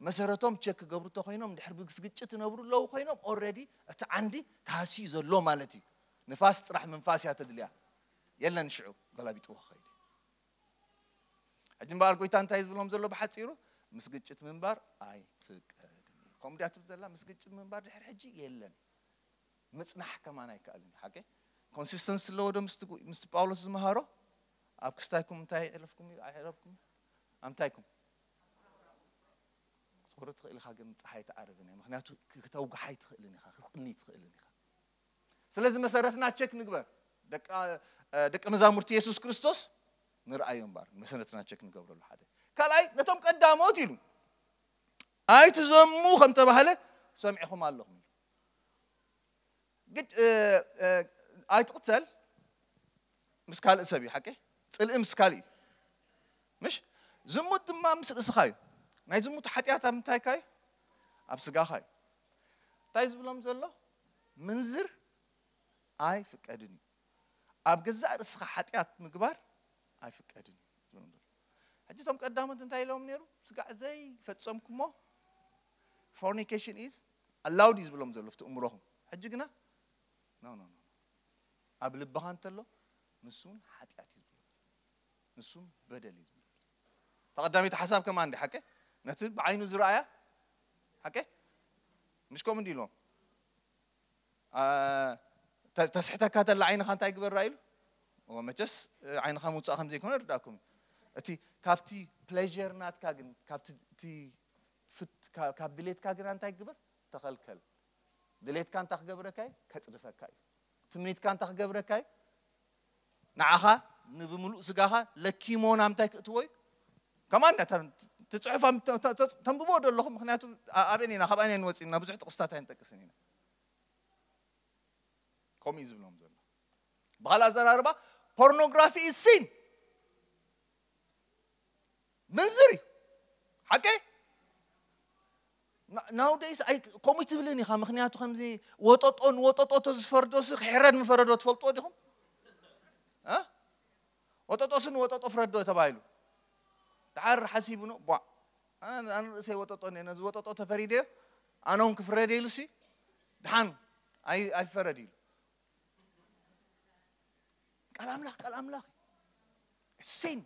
መሰረቶም ቸክ ክገብሩ እንተኮይኖም፣ ድሕሪ ብግስ ግጭት ይነብሩ ኣለዉ ኮይኖም፣ ኦልሬዲ እቲ ዓንዲ ተሃስዩ ዘሎ ማለት እዩ። ንፋስ ጥራሕ ምንፋስ እያ ተድልያ። የለን ሽዑ ገላቢጥዎ ክኸይድ እዩ። ሕጂ እምበኣር ጎይታ እንታይ ዝብሎም ዘሎ ብሓፂሩ? ምስ ግጭት ምንባር ኣይፍቀድን እዩ። ከምኡ ድያ ትብል ዘላ? ምስ ግጭት ምንባር ድሕሪ ሕጂ የለን። ምፅናሕ ከማን ኣይከኣልን እዩ። ሓቂ? ኮንሲስተንስ ኣለዎ ዶ ምስቲ ጉ- ምስቲ ጳውሎስ ዝመሃሮ? ኣብ ክስታይኩም እንታይ ኣሕለፍኩም እዩ? ኣይሕለፍኩም? ኣምታይኩም? ክትኮሪ ትኽእል ኢኻ፣ ግን ፀሓይ ትዓርብን እያ። ምክንያቱ ክተውግሓ ኣይትኽእልን ኢኻ፣ ክትቕኒ ኣይትኽእልን ኢኻ። ስለዚ መሰረትና ቸክ ንግበር። ደቂ ደቂ መዛሙርቲ የሱስ ክርስቶስ ንርኣዮ እምበር መሰረትና ቸክ ንገብረሉ ሓደ። ካልኣይ ነቶም ቀዳሞት ኢሉ ኣይትዘሙ ከም ተባህለ ሰሚዕኹም ኣለኹም ኢሉ። ግጭ ኣይትቕተል ምስ ካልእ ሰብ እዩ። ሓቂ? ፅልኢ ምስ ካልእ እዩ። ምሽ ዝሙት ድማ ምስ ርእስኻ እዩ። ናይ ዝሙት ሓጢኣት ኣብ ምንታይካ እዩ? ኣብ ስጋኻ እዩ። እንታይ ዝብሎም ዘሎ? ምንዝር ኣይፍቀድን እዩ። ኣብ ገዛእ ርእስኻ ሓጢኣት ምግባር ኣይፍቀድን እዩ ዝብሎም ዘሎ። ሕጂ እቶም ቀዳሞት እንታይ ኢሎም ነይሩ? ስጋዕ ዘይፈጸምኩሞ fornication is allowed እዩ ዝብሎም ዘሎ ኣብቲ እምሮኹም። ሕጂ ግና no no no፣ ኣብ ልብኻ እንተሎ ንሱ እውን ሓጢኣት እዩ ዝብሎ፣ ንሱ እውን በደል እዩ ዝብሎ። ተቐዳሚት ሓሳብ ከማን እንዲ ሓቂ ነቲ ብዓይኑ ዝረኣያ ሓቂ ምሽ ከምኡ እንዲ ኢልዎም ተ- ተስሕተካ ተላ ዓይንኻ እንታይ ግበራ ኢሉ? እወ፣ መቸስ ዓይንኻ ምውፃእ ከም ዘይኮነ ርዳእኩም እዩ። እቲ ካብቲ ፕሌር ናትካ ግን ካብቲ እቲ ፍት- ካ- ካብ ድሌትካ ግና እንታይ ግበር? ተኸልከል። ድሌትካ እንታይ ክገብረካ እዩ? ከፅድፈካ እዩ። ትምኒትካ እንታይ ክገብረካ እዩ? ንዓኻ ንብምሉእ ስጋኻ ለኪሞ ናምታይ ክእትዎ እዩ? ከማን ትፅሑፍ ተንብቦ ዶ ኣለኹም? ምክንያቱ ኣበን ኢና ካብኣን ንወፅእና ብዙሕ ጥቕስታት ኣይንጠቅስን ኢና። ከምኡ እዩ ዝብሎም ዘሎ። ብኻልእ ኣዘራርባ ፖርኖግራፊ ሲን ምንዝር እዩ። ሓቂ ናውደይስ ኣይ ከምኡ ትብልን ኢኻ። ምክንያቱ ከምዚ ወጠጦ ንወጠጦ ተዝፈርዶሲ ክሕረድ ምፈረዶ ትፈልጥዎ ዲኹም? እ? ወጠጦሲ ንወጠጦ ፍረዶ ተባሂሉ ድሓር ሓሲቡ ነው ቧ ኣነ ኣነ ርእሰይ ወጠጦ እኔ ነዚ ወጠጦ ተፈሪደዮ ኣነ እውን ክፍረደ ኢሉሲ ድሓን ኣይ ኣይፈረድ ኢሉ ቃል ኣምላኽ ቃል ኣምላኽ እዩ። Sin,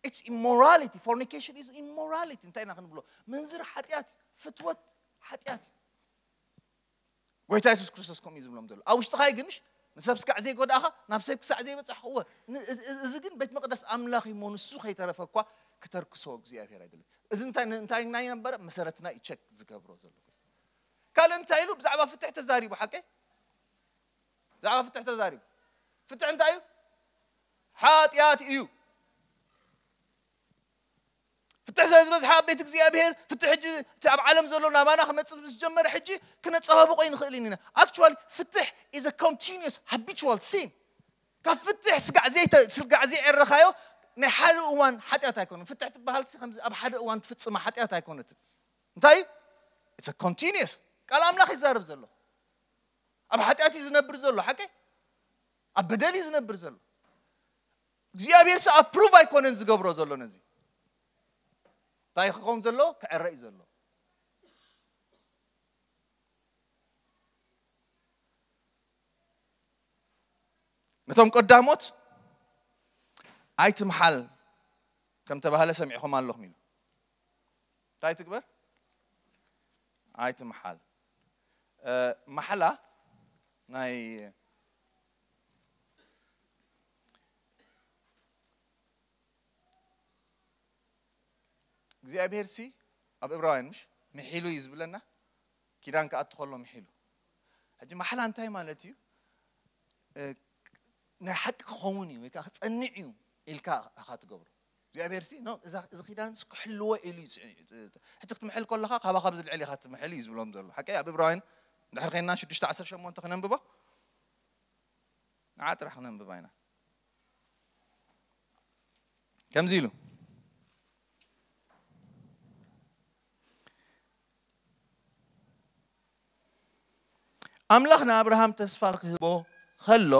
it's immorality, fornication is immorality። እንታይ ኢና ክንብሎ? ምንዝር ሓጢኣት እዩ። ፍትወት ሓጢኣት እዩ። ጎይታ የሱስ ክርስቶስ ከምኡ እዩ ዝብሎም ዘሎ። ኣብ ውሽጥኻ ይግምሽ ንሰብ ስጋዕ ዘይጎዳእኻ ናብ ሰብ ክሳዕ ዘይበፅሕኽዎ ን- እዚ- እዚ ግን ቤት መቅደስ ኣምላኽ እዩ እሞ ንሱ ከይተረፈ እኳ ክተርክሶ እግዚኣብሔር ኣይደለ። እዚ እንታይ እንታይ ናይ ነበረ መሰረትና እዩ ቸክ ዝገብሮ ዘሎ። ካልእ እንታይ ኢሉ ብዛዕባ ፍትሕ ተዛሪቡ ሓቀ ብዛዕባ ፍትሕ ተዛሪቡ ፍትሕ እንታይ እዩ? ሓጢኣት እዩ። ፍትሕ ስለ ዝበዝሓ ኣብ ቤት እግዚኣብሔር ፍትሕ ሕጂ እቲ ኣብ ዓለም ዘሎ ናባና ክመፅእ ምስ ጀመረ ሕጂ ክነፀባብቆ ይንኽእል ኢና። Actually ፍትሕ is a continuous habitual sin። ካብ ፍትሕ ስጋዕ ዘይተ- ስጋዕ ዘይዕረኻዮ ናይ ሓደ እዋን ሓጢኣት ኣይኮነን። ፍትሕ ትበሃል ከምዚ ኣብ ሓደ እዋን ትፍፅማ ሓጢኣት ኣይኮነትን። እንታይ እዩ? It's a continuous። ቃል ኣምላኽ ይዛረብ ዘሎ። ኣብ ሓጢኣት እዩ ዝነብር ዘሎ፣ ሓቂ? ኣብ በደል እዩ ዝነብር ዘሎ። እግዚኣብሔር ሲ ኣፕሩቭ ኣይኮነን ዝገብሮ ዘሎ ነዚ። እንታይ ክኸውን ዘሎ? ክዕረ እዩ ዘሎ። ነቶም ቀዳሞት ኣይትምሓል ከም ተባህለ ሰሚዕኹም ኣለኹም ኢሉ። እንታይ ትግበር? ኣይትምሓል። እ፣ ማሕላ ናይ እግዚኣብሔር ሲ ኣብ ዕብራውያን ምሽ ምሒሉ እዩ ዝብለና፣ ኪዳን ክኣቱ ከሎ ምሒሉ። ሕጂ ማሕላ እንታይ ማለት እዩ? እ፣ ናይ ሓቂ ክኸውን እዩ ወይ ከዓ ክጸንዕ እዩ ኢልካ ኢኻ ትገብሮ። እግዚኣብሔር ሲ፣ ኖ፣ እዛ፣ እዚ ኪዳን ሲ ክሕልዎ ኢሉ እዩ ዝጽ-፣ ሕጂ ክትምሕል ከለኻ ካባኻ ብዝልዕል ኢኻ ትምሕል እዩ ዝብሎም ዘሎ። ሓቂ ኣብ ዕብራውያን እንድሕር ኸይንና ሽዱሽተ ዓሰርተ ሸሞንተ ክነንብቦ፣ ንዓ ጥራሕ ክነንብባ ኢና። ከምዚ ኢሉ፣ ኣምላኽ ንኣብርሃም ተስፋ ክህቦ ከሎ፣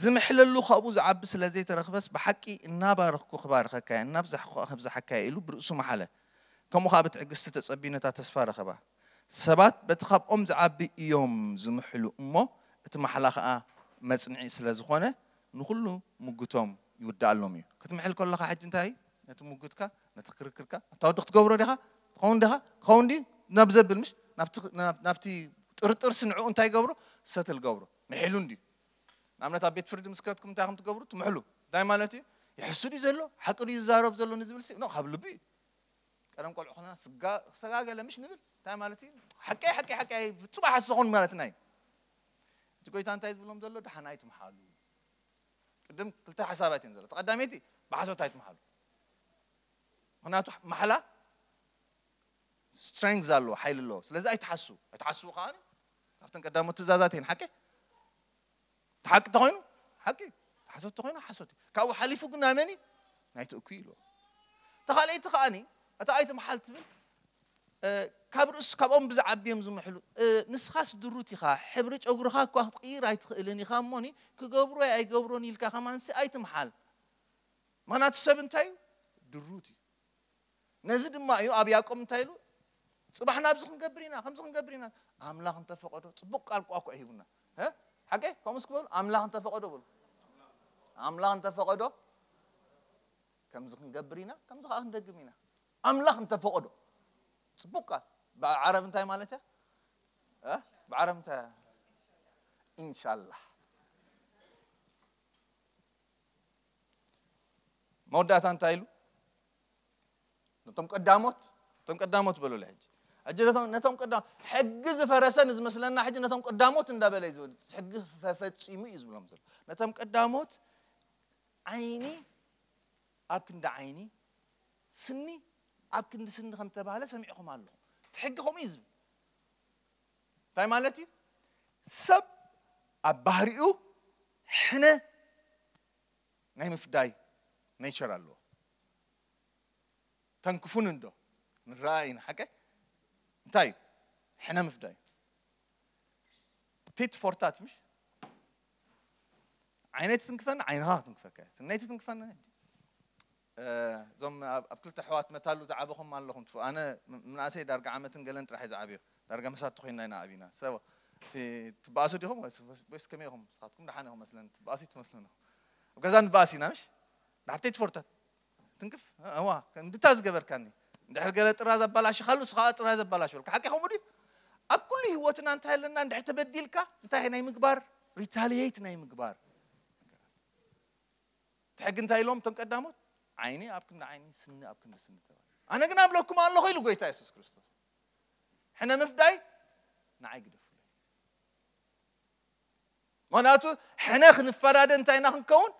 ዝምሕለሉ ካብኡ ዝዓቢ ስለ ዘይተረኽበስ፣ ብሓቂ እናባረኽኩ ክባርኸካ እየ፣ እናብዛሕኩ ከኣ ከብዝሓካ እየ ኢሉ ብርእሱ መሓለ። ከምኡ ኸኣ ብትዕግስቲ ተጸቢዩ ነታ ተስፋ ረኸባ። ሰባት በቲ ካብኦም ዝዓቢ እዮም ዝምሕሉ እሞ፣ እቲ ማሕላ ኸኣ መጽንዒ ስለ ዝኾነ፣ ንኹሉ ምጉቶም ይውድኣሎም እዩ። ክትምሕል ከለኻ ሕጂ እንታይ? ነቲ ምጉትካ፣ ነቲ ክርክርካ፣ ኣታ ወዲ ክትገብሮ ዲኻ? ትኸውን ዲኻ? ትኸውን ድዩ? ናብ ዘብል ምሽ? ናብቲ፣ ናብ-፣ ናብቲ ጥርጥር ስንዕኡ እንታይ ገብሮ? ሰትል ገብሮ። ምሒሉ እንድዩ። ንኣብነት ኣብ ቤት ፍርዲ ምስ ከድኩም እንታይ ከም ትገብሩ? ትምሕሉ። እንታይ ማለት እዩ? ይሕሱ ድዩ ዘሎ? ሓቂ ድዩ ዝዛረብ ዘሎ ንዝብል ሲ? ኖ፣ ካብ ልቢ እዩ። ቀደም ቆልዑ ከለና ስጋ-፣ ሰጋገለ ምሽ ንብል? እንታይ ማለት እዩ? ሓቀይ፣ ሓቀይ፣ ሓቀይ፣ ፍጹም ኣይሓስኹን ማለትና እዩ። እቲ ጎይታ እንታይ ዝብሎም ዘሎ? ደሓን ኣይትምሓሉ። ቅድም ክልተ ሓሳባት እየን ዘሎ። እቲ ቀዳመይቲ ብሓሶት ኣይትምሓሉ። ምኽንያቱ ማሕላ ስትሬንግዝ ኣለዎ፣ ሓይሊ ኣለዎ። ስለዚ ኣይትሓሱ። ኣይትሓሱ ከኣ ካብተን ቀዳሞት ትእዛዛት እየን። ሓቂ? እቲ ሓቂ እንተኾይኑ ሓቂ እዩ። እቲ ሓሶት እንተኾይኑ ሓሶት እዩ። ካብኡ ሓሊፉ ግን ናይ መን እዩ? ናይቲ እኩይ ኢልዎ። እታ ካልኣይቲ ከኣኒ፣ እታ ኣይትምሓል ትብል፣ እ፣ ካብ ርእሱ፣ ካብኦም ብዝዓቢ እዮም ዝምሕሉ። እ፣ ንስኻስ ድሩት ኢኻ፣ ሕብሪ ጨጉርኻ እኳ ክትቕይር ኣይትኽእልን ኢኻ እሞኒ፣ ክገብሮ ኣይገብሮን ኢልካ ከማንሲ ኣይትምሓል። ምኽንያቱ ሰብ እንታይ እዩ? ድሩት እዩ። ነዚ ድማ እዩ ኣብ ያዕቆብ እንታይ ኢሉ? ጽባሕ ናብዚ ክንገብር ኢና፣ ከምዚ ክንገብር ኢና። ኣምላኽ እንተፈቐዶ፣ ጽቡቕ ቃል ቋ እኮ ሂቡና። እ? ሓቂ? ከምኡስ ክበሉ፣ ኣምላኽ እንተፈቐዶ በሉ። ኣምላኽ እንተፈቐዶ፣ ከምዚ ክንገብር ኢና፣ ከምዚ ከኣ ክንደግም ኢና። ኣምላኽ እንተፈቐዶ። ጽቡቕ ቃል። ብዓረብ እንታይ ማለት እያ? እ? ብዓረብ እንታይ? ኢንሻላህ። መወዳእታ እንታይ ኢሉ? ነቶም ቀዳሞት፣ ነቶም ቀዳሞት በሉለይ ሕጂ። ሕጂ ነቶም፣ ነቶም ቀዳሞት፣ ሕጊ ዝፈረሰ ንዝመስለና ሕጂ ነቶም ቀዳሞት እንዳበለ እዩ ዝብል። ሕጊ ፈ-፣ ፈጺሙ እዩ ዝብሎም ዘሎ። ነቶም ቀዳሞት ዓይኒ ኣብ ክንዲ ዓይኒ፣ ስኒ ኣብ ክንዲ ስኒ ከም ተባህለ ሰሚዕኹም ኣለኹም። እቲ ሕጊ ከምኡ እዩ ዝብል። እንታይ ማለት እዩ? ሰብ ኣብ ባህሪኡ ሕነ ናይ ምፍዳይ ኔቸር ኣለዎ። ተንክፉን እንዶ ንረኣ ኢና፣ ሓቀ? እንታይ እዩ? ሕነ ምፍዳይ። ቲት ፎር ታት፣ ምሽ? ዓይነይ ትትንክፈኒ፣ ዓይንኻ ክትንክፈካ እያ። ስነይ ትትንክፈኒ። እ፣ እዞም ኣብ፣ ኣብ ክልተ ኣሕዋት መታሉ ዝዓበኹም ኣለኹም። ትፉ-፣ ኣነ ም-፣ ምንኣሰይ ዳርጋ ዓመትን ገለን ጥራሕ እየ ዝዓብዮ። ዳርጋ መሳት ተኾይንና ኢና ዓቢና። ሰብ፣ እቲ ትበኣሱ ዲኹም ወይስ፣ ወይስ ከመይ ኢኹም? ንስኻትኩም ደሓን ኢኹም መስለኒ። ትበኣሱ ትመስሉኒ። ኣብ ገዛ ንበኣስ ኢና፣ ምሽ? ድሓር ቲት ፎር ታት። ትንክፍ? እዋ፣ እንድታ ዝገበርካኒ። እንድሕር ገለ ጥራዝ ኣባላሽኻሉ፣ ንስኻ ጥራዝ ኣባላሽወልካ። ሓቂ ከምኡ ድዩ? ኣብ ኩሉ ህይወትና እንታይ ኣለና? እንድሕር ተበዲልካ፣ እንታይ ናይ ምግባር? ሪታሊየት ናይ ምግባር። እቲ ሕጊ እንታይ ኢሎም እቶም ቀዳሞት? ዓይኒ ኣብ ክንዲ ዓይኒ፣ ስኒ ኣብ ክንዲ ስኒ ተባሂሉ። ኣነ ግን ኣብለኩም ኣለኹ ኢሉ ጎይታ የሱስ ክርስቶስ። ሕነ ምፍዳይ ንዓይ ግደፉለይ። ምኽንያቱ ሕነ ክንፈዳደ እንታይ ኢና ክንከውን?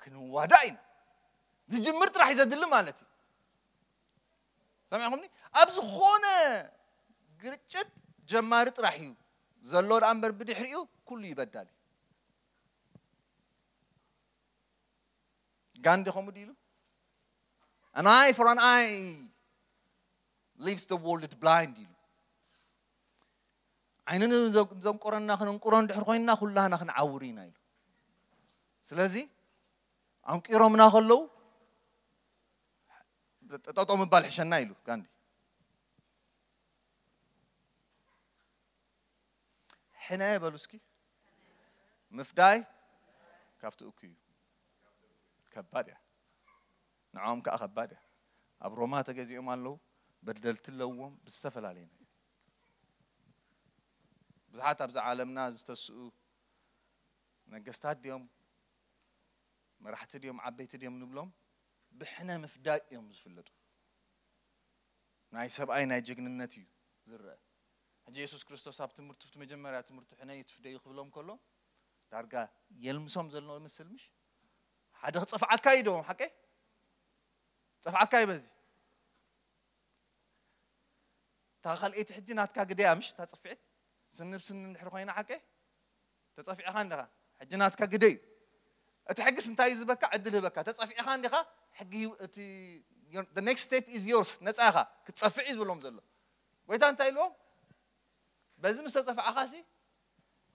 ክንዋዳእ ኢና። ዝጅምር ጥራሕ እዩ ዘድሊ ማለት እዩ። ሰሚዕኹምኒ? ኣብ ዝኾነ ግርጭት ጀማሪ ጥራሕ እዩ ዘሎ ደኣ እምበር ብድሕሪኡ ኩሉ ይበዳል እዩ። ጋንዲ ከምኡ ድዩ ኢሉ? An eye for an eye leaves the world blind ኢሉ። ዓይኒ ንዘንቆረና ክነንቁሮ እንድሕር ኮይንና ኩላህና ክንዓውር ኢና ኢሉ። ስለዚ ኣንቂሮምና ከለዉ ጠጠው ምባል ሕሸና ኢሉ ጋንዲ። ሕነ በሉ እስኪ። ምፍዳይ ካብቲ እኩይ እዩ። ከባድ እያ። ንዕኦም ከዓ ከባድ እያ። ኣብ ሮማ ተገዚኦም ኣለዉ። በደልቲ ኣለዎም ብዝተፈላለየ ነገር። ብዙሓት ኣብዚ ዓለምና ዝተስኡ ነገስታት ድዮም፣ መራሕቲ ድዮም፣ ዓበይቲ ድዮም ንብሎም ብሕነ ምፍዳይ እዮም ዝፍለጡ። ናይ ሰብኣይ ናይ ጀግንነት እዩ ዝረአ። ሕጂ የሱስ ክርስቶስ ኣብ ትምህርቱ፣ እቲ መጀመርያ ትምህርቱ ሕነ ይትፍደዩ ክብሎም ከሎ ዳርጋ የልምሶም ዘሎ ይመስል ምሽ? ሓደ ክጸፍዓካ እዩ ዶ ሓቀይ? ጸፍዓካ እዩ በዚ። እታ ካልኣይቲ ሕጂ ናትካ ግደያ ምሽ? እታ ጸፍዒት ስንብ ስን እንድሕር ኮይና ሓቀይ? ተጸፊዕኻ እንዲኻ። ሕጂ ናትካ ግደ እዩ። እቲ ሕግስ እንታይ እዩ ዝበካ? ዕድል ህበካ። ተጸፊዕኻ እንዲኻ፣ ሕጊ ህይወ-፣ እቲ your- the next step is yours። ነጻ ኢኻ። ክትጸፍዕ እዩ ዝብሎም ዘሎ። ጎይታ እንታይ ኢልዎም? በዚ ምስ ተጸፍዓኻ ሲ፣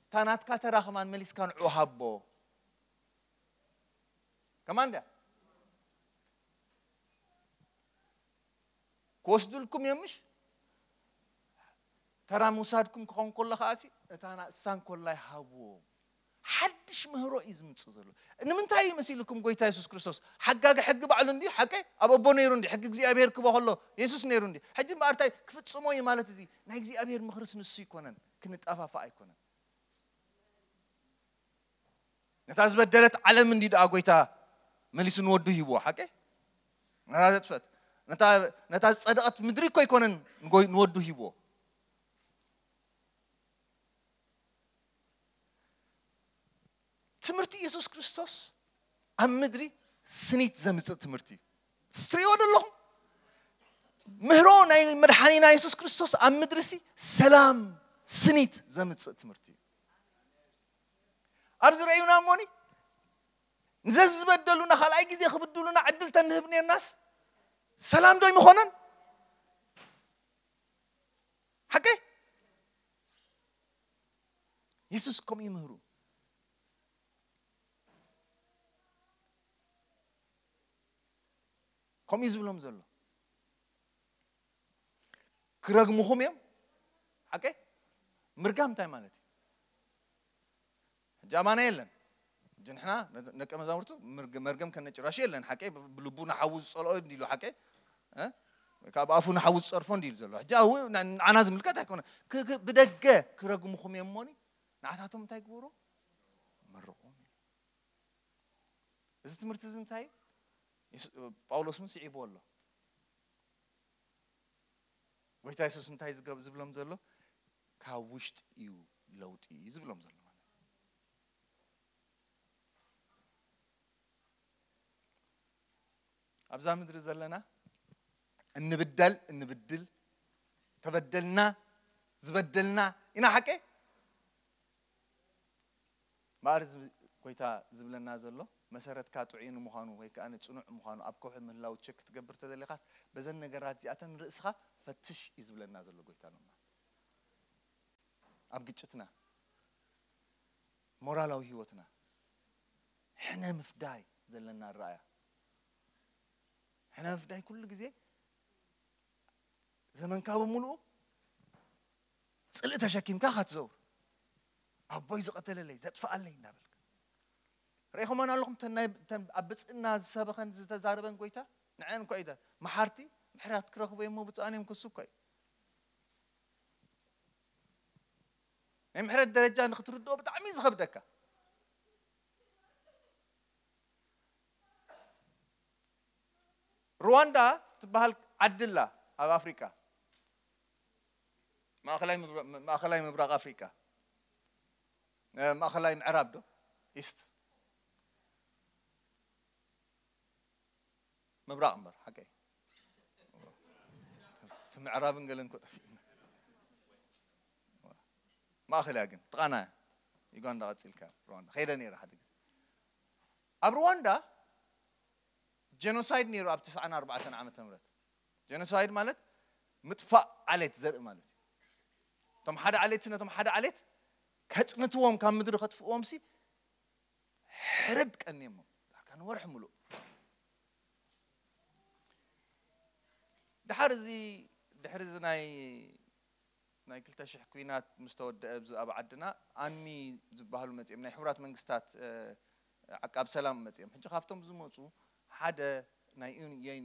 እታ ናትካ ተራ ከማን መሊስካ ንዕኡ ሃቦ። ከማን ድያ? ክወስዱልኩም እዮም ምሽ? ተራ ምውሳድኩም ክኸውን ከሎ ከኣሲ፣ እታ ንሳ እንኮላይ ሃብዎም። ሓድሽ ምህሮ እዩ ዝምጽእ ዘሎ። ንምንታይ እዩ መሲልኩም ጎይታ የሱስ ክርስቶስ? ሓጋጊ ሕጊ ባዕሉ እንድዩ፣ ሓቀይ? ኣብ ኣቦ ነይሩ እንድዩ፣ ሕጊ እግዚኣብሔር ክቦ ከሎ የሱስ ነይሩ እንድዩ። ሕጂ እምበኣር እንታይ ክፍጽሞ እዩ ማለት እዚ? ናይ እግዚኣብሔር ምኽርስ ንሱ ኣይኮነን፣ ክንጠፋፋእ ኣይኮነን። ነታ ዝበደለት ዓለም እንዲ ደኣ ጎይታ መሊሱ ንወዱ ሂብዎ፣ ሓቀይ? ነታ ዘጥፈት፣ ነታ፣ ነታ ዝጸደቐት ምድሪ እኮ ኣይኮነን ንጎይ-፣ ንወዱ ሂብዎ። ትምህርቲ የሱስ ክርስቶስ ኣብ ምድሪ ስኒት ዘምጽእ ትምህርቲ እዩ። ስትሪኦ ዘለኹም ምህሮ ናይ መድሓኒና የሱስ ክርስቶስ ኣብ ምድሪ ሲ ሰላም ስኒት ዘምጽእ ትምህርቲ እዩ። ኣብዚ ረእዩና እሞኒ ንዘዝበደሉና ካልኣይ ግዜ ክብድሉና ዕድል ተንህብ ነርናስ ሰላም ዶ ይምኾነን? ሓቂ የሱስ ከምኡ ይምህሩ። ከምኡ እዩ ዝብሎም ዘሎ። ክረግምኹም እዮም። ሓቂ ምርጋም እንታይ ማለት እዩ? ሕጂ ኣማና የለን። ሕጂ ንሕና ደቀ መዛሙርቱ ምርግ-፣ መርገም ከነጭራሹ የለን። ሓቂ ብልቡ ንሓዉ ዝጸልኦ እንዲሉ ሓቂ፣ እ? ካብ ኣፉ ንሓዉ ዝጸርፎ እንዲሉ ዘሎ። ሕጂ ኣው ንዓና ዝምልከት ኣይኮነ። ክ-፣ ክ-፣ ብደገ ክረግምኹም እዮም እሞኒ ንዓታቶም እንታይ ግበሩ? መርቑም እዩ። እዚ ትምህርቲ እዚ እንታይ እዩ? የሱ-፣ ጳውሎስ እውን ስዒብዎ ኣሎ። ጎይታ የሱስ እንታይ ዝገብ-፣ ዝብሎም ዘሎ? ካብ ውሽጢ እዩ ለውጢ ዝብሎም ዘሎ ማለት እዩ። ኣብዛ ምድሪ ዘለና እንብደል፣ እንብድል፣ ተበደልና፣ ዝበደልና ኢና። ሓቂ ማር ጎይታ ዝብለና ዘሎ መሰረትካ ጥዑይ ንምዃኑ ወይ ከዓ ንጽኑዕ ምዃኑ ኣብ ከውሒ ምህላው ቸክ ክትገብር ተዘሊኻስ በዘን ነገራት እዚኣተን ርእስኻ ፈትሽ እዩ ዝብለና ዘሎ ጎይታ ሎማ። ኣብ ግጭትና፣ ሞራላዊ ህይወትና ሕነ ምፍዳይ ዘለና ኣረኣያ። ሕነ ምፍዳይ ኩሉ ግዜ ዘመንካ ብምሉኡ ጽልኢ ተሸኪምካ ኢኻ ትዘውር። ኣቦይ ዝቐተለለይ፣ ዘጥፍኣለይ እንዳበልካ። ርኢኹመን ኣለኹም? እተን ናይ፣ እተን ኣብ ብጽእና ዝሰበኸን ዝተዛረበን ጎይታ፣ ንዐን እኮ ኢደ፣ መሓርቲ፣ ምሕረት ክረኽቡ እሞ ብፁዓን እዮም ክሱ እኮ እዩ። ናይ ምሕረት ደረጃ ንክትርድኦ ብጣዕሚ እዩ ዝኸብደካ። ሩዋንዳ ትበሃል ዓዲ ኣላ ኣብ ኣፍሪቃ። ማእኸላይ ምብራ-፣ ማእኸላይ ምብራቕ ኣፍሪቃ። እ፣ ማእኸላይ ምዕራብ ዶ? ኢስት። ምብራቕ እምበር፣ ሓቀይ። እቲ ምዕራብን ገለን እኮ ጠፊእና። ማእኸል እያ ግን፣ ጥቓና እያ። ዩጋንዳ ቀጺልካ፣ ሩዋንዳ። ከይደ ነይረ ሓደ ግዜ። ኣብ ሩዋንዳ ጀኖሳይድ ነይሩ ኣብ ትስዓን ኣርባዕተን ዓመተ ምህረት። ጀኖሳይድ ማለት ምጥፋእ ዓሌት ዘርኢ ማለት እዩ። እቶም ሓደ ዓሌት ነቶም ሓደ ዓሌት ከጽንትዎም ካብ ምድሪ ከጥፍእዎም ሲ ሕርድ ቀንየሞም ዳርካ ንወርሒ ምሉእ። ድሓር እዚ ድሕሪ እዚ ናይ ናይ ክልተ ሽሕ ኩናት ምስ ተወደአ ኣብዚ ኣብ ዓድና ኣንሚ ዝበሃሉ መጺኦም ናይ ሕቡራት መንግስታት ዓቃብ ሰላም መጺኦም። ሕጂ ካብቶም ዝመጹ ሓደ ናይ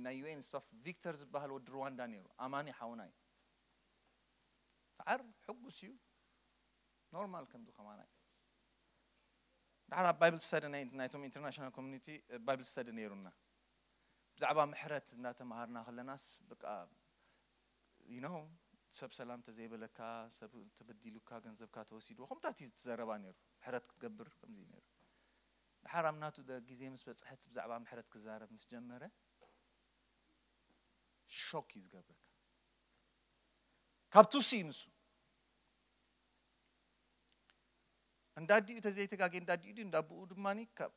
ናይ ዩ ኤን ስታፍ ቪክተር ዝበሃል ወዲ ሩዋንዳ ነይሩ። ኣማኒ ሓውና እዩ። ሰዓር ሕጉስ እዩ። ኖርማል ከምዚ ከማና እዩ። ድሓር ኣብ ባይብል ስተዲ ናይቶም ኢንተርናሽናል ኮሚኒቲ ባይብል ስተዲ ነይሩና። ብዛዕባ ምሕረት እናተምሃርና ከለናስ በቃ you know ሰብ ሰላም ተዘይበለካ ሰብ ተበዲሉካ ገንዘብካ ተወሲድዎ ከምታት እዩ ትዘረባ ነይሩ። ምሕረት ክትገብር ከምዚ እዩ ነይሩ። ድሓር ኣብ ናቱ ግዜ ምስ በፅሐት ብዛዕባ ምሕረት ክዛረብ ምስ ጀመረ ሾክ እዩ ዝገብረካ። ካብ ቱሲ እዩ ንሱ እንዳዲኡ ተዘይተጋጌ እንዳዲኡ ድዩ እንዳብኡ ድማ ካብ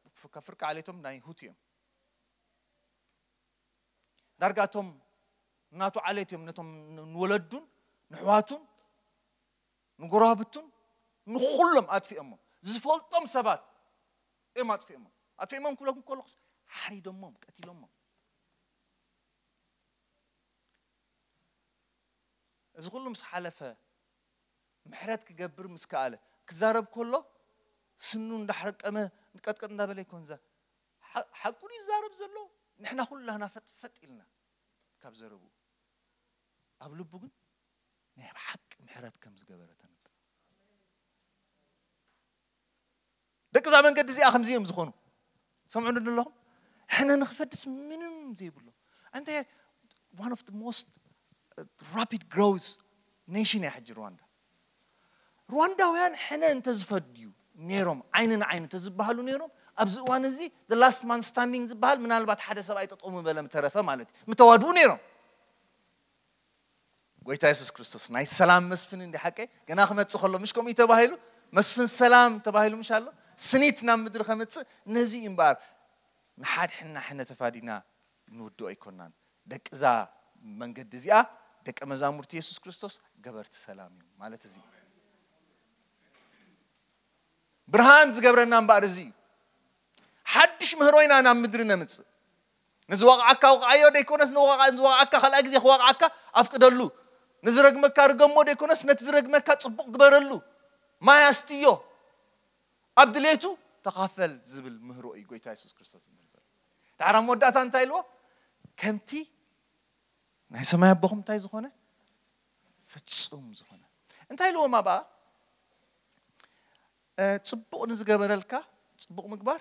ፍርቂ ዓሌቶም ናይ ሁቲ እዮም። ዳርጋቶም ናቱ ዓሌት እዮም ነቶም ንወለዱን ንሕዋቱን ንጎረባብቱን ንኩሎም ኣጥፊኦሞም። ዝፈልጦም ሰባት እዮም ኣጥፊኦሞም። ኣጥፊኦሞም ክብለኩም ከለኹስ ሓሪዶሞም ቀቲሎሞም። እዚ ኩሉ ምስ ሓለፈ ምሕረት ክገብር ምስ ከኣለ ክዛረብ ከሎ ስኑ እንዳሕረቀመ ቀጥቀጥ እንዳበለ ይኮን ዛ ሓቁ ይዛረብ ዘሎ። ንሕና ኩላህና ፈጥፈጥ ኢልና ካብ ዘረቡ ኣብ ልቡ ግን ናይ ሓቂ ምሕረት ከም ዝገበረ ተንብ። ደቂ እዛ መንገዲ እዚኣ ከምዚ እዮም ዝኾኑ። ሰምዑ ኣለኹም። ሕነ ንክፈድስ ምንም ዘይብሎ እንተ one of the most rapid growth nation እያ ሕጂ ሩዋንዳ። ሩዋንዳውያን ሕነ እንተዝፈድዩ ነይሮም ዓይኒ ንዓይኒ እንተዝበሃሉ ነይሮም ኣብዚ እዋን እዚ the last man standing ዝበሃል ምናልባት ሓደ ሰብኣይ ጠጠው ምበለ ምተረፈ ማለት እዩ ምተዋድኡ ነይሮም። ጎይታ የሱስ ክርስቶስ ናይ ሰላም መስፍን እንዲ ሓቀ ገና ክመጽእ ከሎ ምሽ ከምኡ ተባሂሉ መስፍን ሰላም ተባሂሉ ምሽ ኣሎ ስኒት ናብ ምድሪ ከምጽእ ነዚ እዩ እምበኣር ንሓድሕና ሕነ ተፋዲና ንውድኦ ኣይኮናን። ደቂ እዛ መንገዲ እዚኣ ደቂ መዛሙርቲ የሱስ ክርስቶስ ገበርቲ ሰላም እዮም ማለት እዚ ብርሃን ዝገብረና እምበኣር እዚ እዩ። ሓድሽ ምህሮ ኢና ናብ ምድሪ ነምጽእ። ንዝወቕዓካ ውቕዓዮ ደይኮነስ ንወቕዓ- ንዝወቕዓካ ካልኣይ ግዜ ክወቕዓካ ኣፍቅደሉ። ንዝረግመካ ርገሞ ደይኮነስ ነቲ ዝረግመካ ጽቡቕ ግበረሉ። ማይ ኣስትዮ። ኣብ ድሌቱ ተኻፈል ዝብል ምህሮ እዩ ጎይታ የሱስ ክርስቶስ ዝምህር ዘሎ። ድሓር ኣብ መወዳእታ እንታይ ኢልዎ? ከምቲ ናይ ሰማይ ኣቦኹም እንታይ ዝኾነ ፍጹም ዝኾነ እንታይ ኢልዎም ኣብኣ ጽቡቕ ንዝገበረልካ ጽቡቕ ምግባር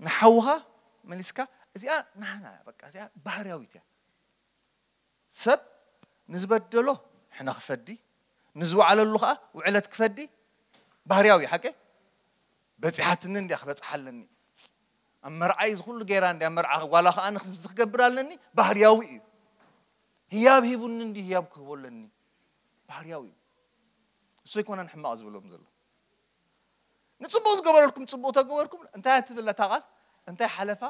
ንሓውኻ መሊስካ እዚኣ ናህና በቃ እዚኣ ባህርያዊት እያ። ሰብ ንዝበደሎ ሕነ ክፈዲ ንዝወዓለሉ ከዓ ውዕለት ክፈዲ ባህርያዊ ሓቂ በፂሓትኒ እንዲያ ክበፅሓ ኣለኒ ኣብ መርዓይ ዝኩሉ ገይራ እንዲያ መርዓ ጓላ ከዓ ንክገብር ኣለኒ ባህርያዊ እዩ። ህያብ ሂቡኒ እንዲ ህያብ ክህቦ ኣለኒ ባህርያዊ እዩ። እሱ ኣይኮነን ሕማቕ ዝብሎም ዘሎ ንፅቡቅ ዝገበረልኩም ፅቡቅ ተገበርኩም እንታይ ትብል እታ ቃል እንታይ ሓለፋ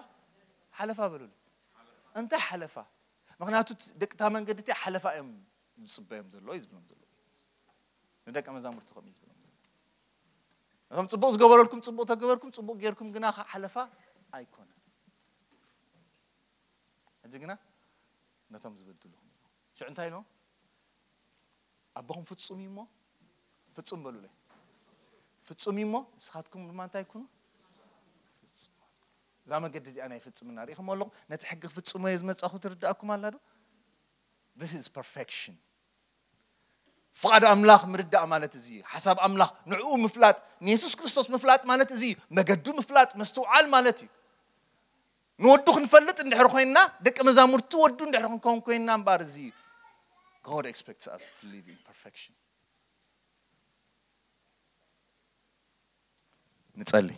ሓለፋ በሉሉ እንታይ ሓለፋ ምክንያቱ ደቅታ መንገዲ እቲ ሓለፋ እዮም ዝፅበዮም ዘሎ እዩ ዝብሎም ዘሎ ንደቂ መዛሙርቲ ከም ዝብሎም እቶም ፅቡቅ ዝገበረልኩም ፅቡቅ ተገበርኩም ፅቡቅ ጌርኩም ግና ሓለፋ ኣይኮነ ሕጂ ግና ነቶም ዝበድሉኹም ሽዑ እንታይ ኢሎም ኣቦኹም ፍጹም እዩ እሞ ፍጹም በሉለይ ፍጹም እዩ እሞ ንስኻትኩም ድማ እንታይ ኩኑ እዛ መገዲ እዚኣ ናይ ፍጽምና ርኢኹም ኣለኹም ነቲ ሕጊ ክፍጽሞ እየ ዝመጻኹ ትርዳእኩም ኣላ ዶ this is perfection ፍቓድ ኣምላኽ ምርዳእ ማለት እዚ እዩ ሓሳብ ኣምላኽ ንዕኡ ምፍላጥ ንየሱስ ክርስቶስ ምፍላጥ ማለት እዚ እዩ መገዱ ምፍላጥ ምስትውዓል ማለት እዩ ንወዱ ክንፈልጥ እንድሕር ኮይንና ደቂ መዛሙርቲ ወዱ እንድሕር ክንከውን ኮይንና እምበኣር እዚ God expects us to live in perfection ንጸሊ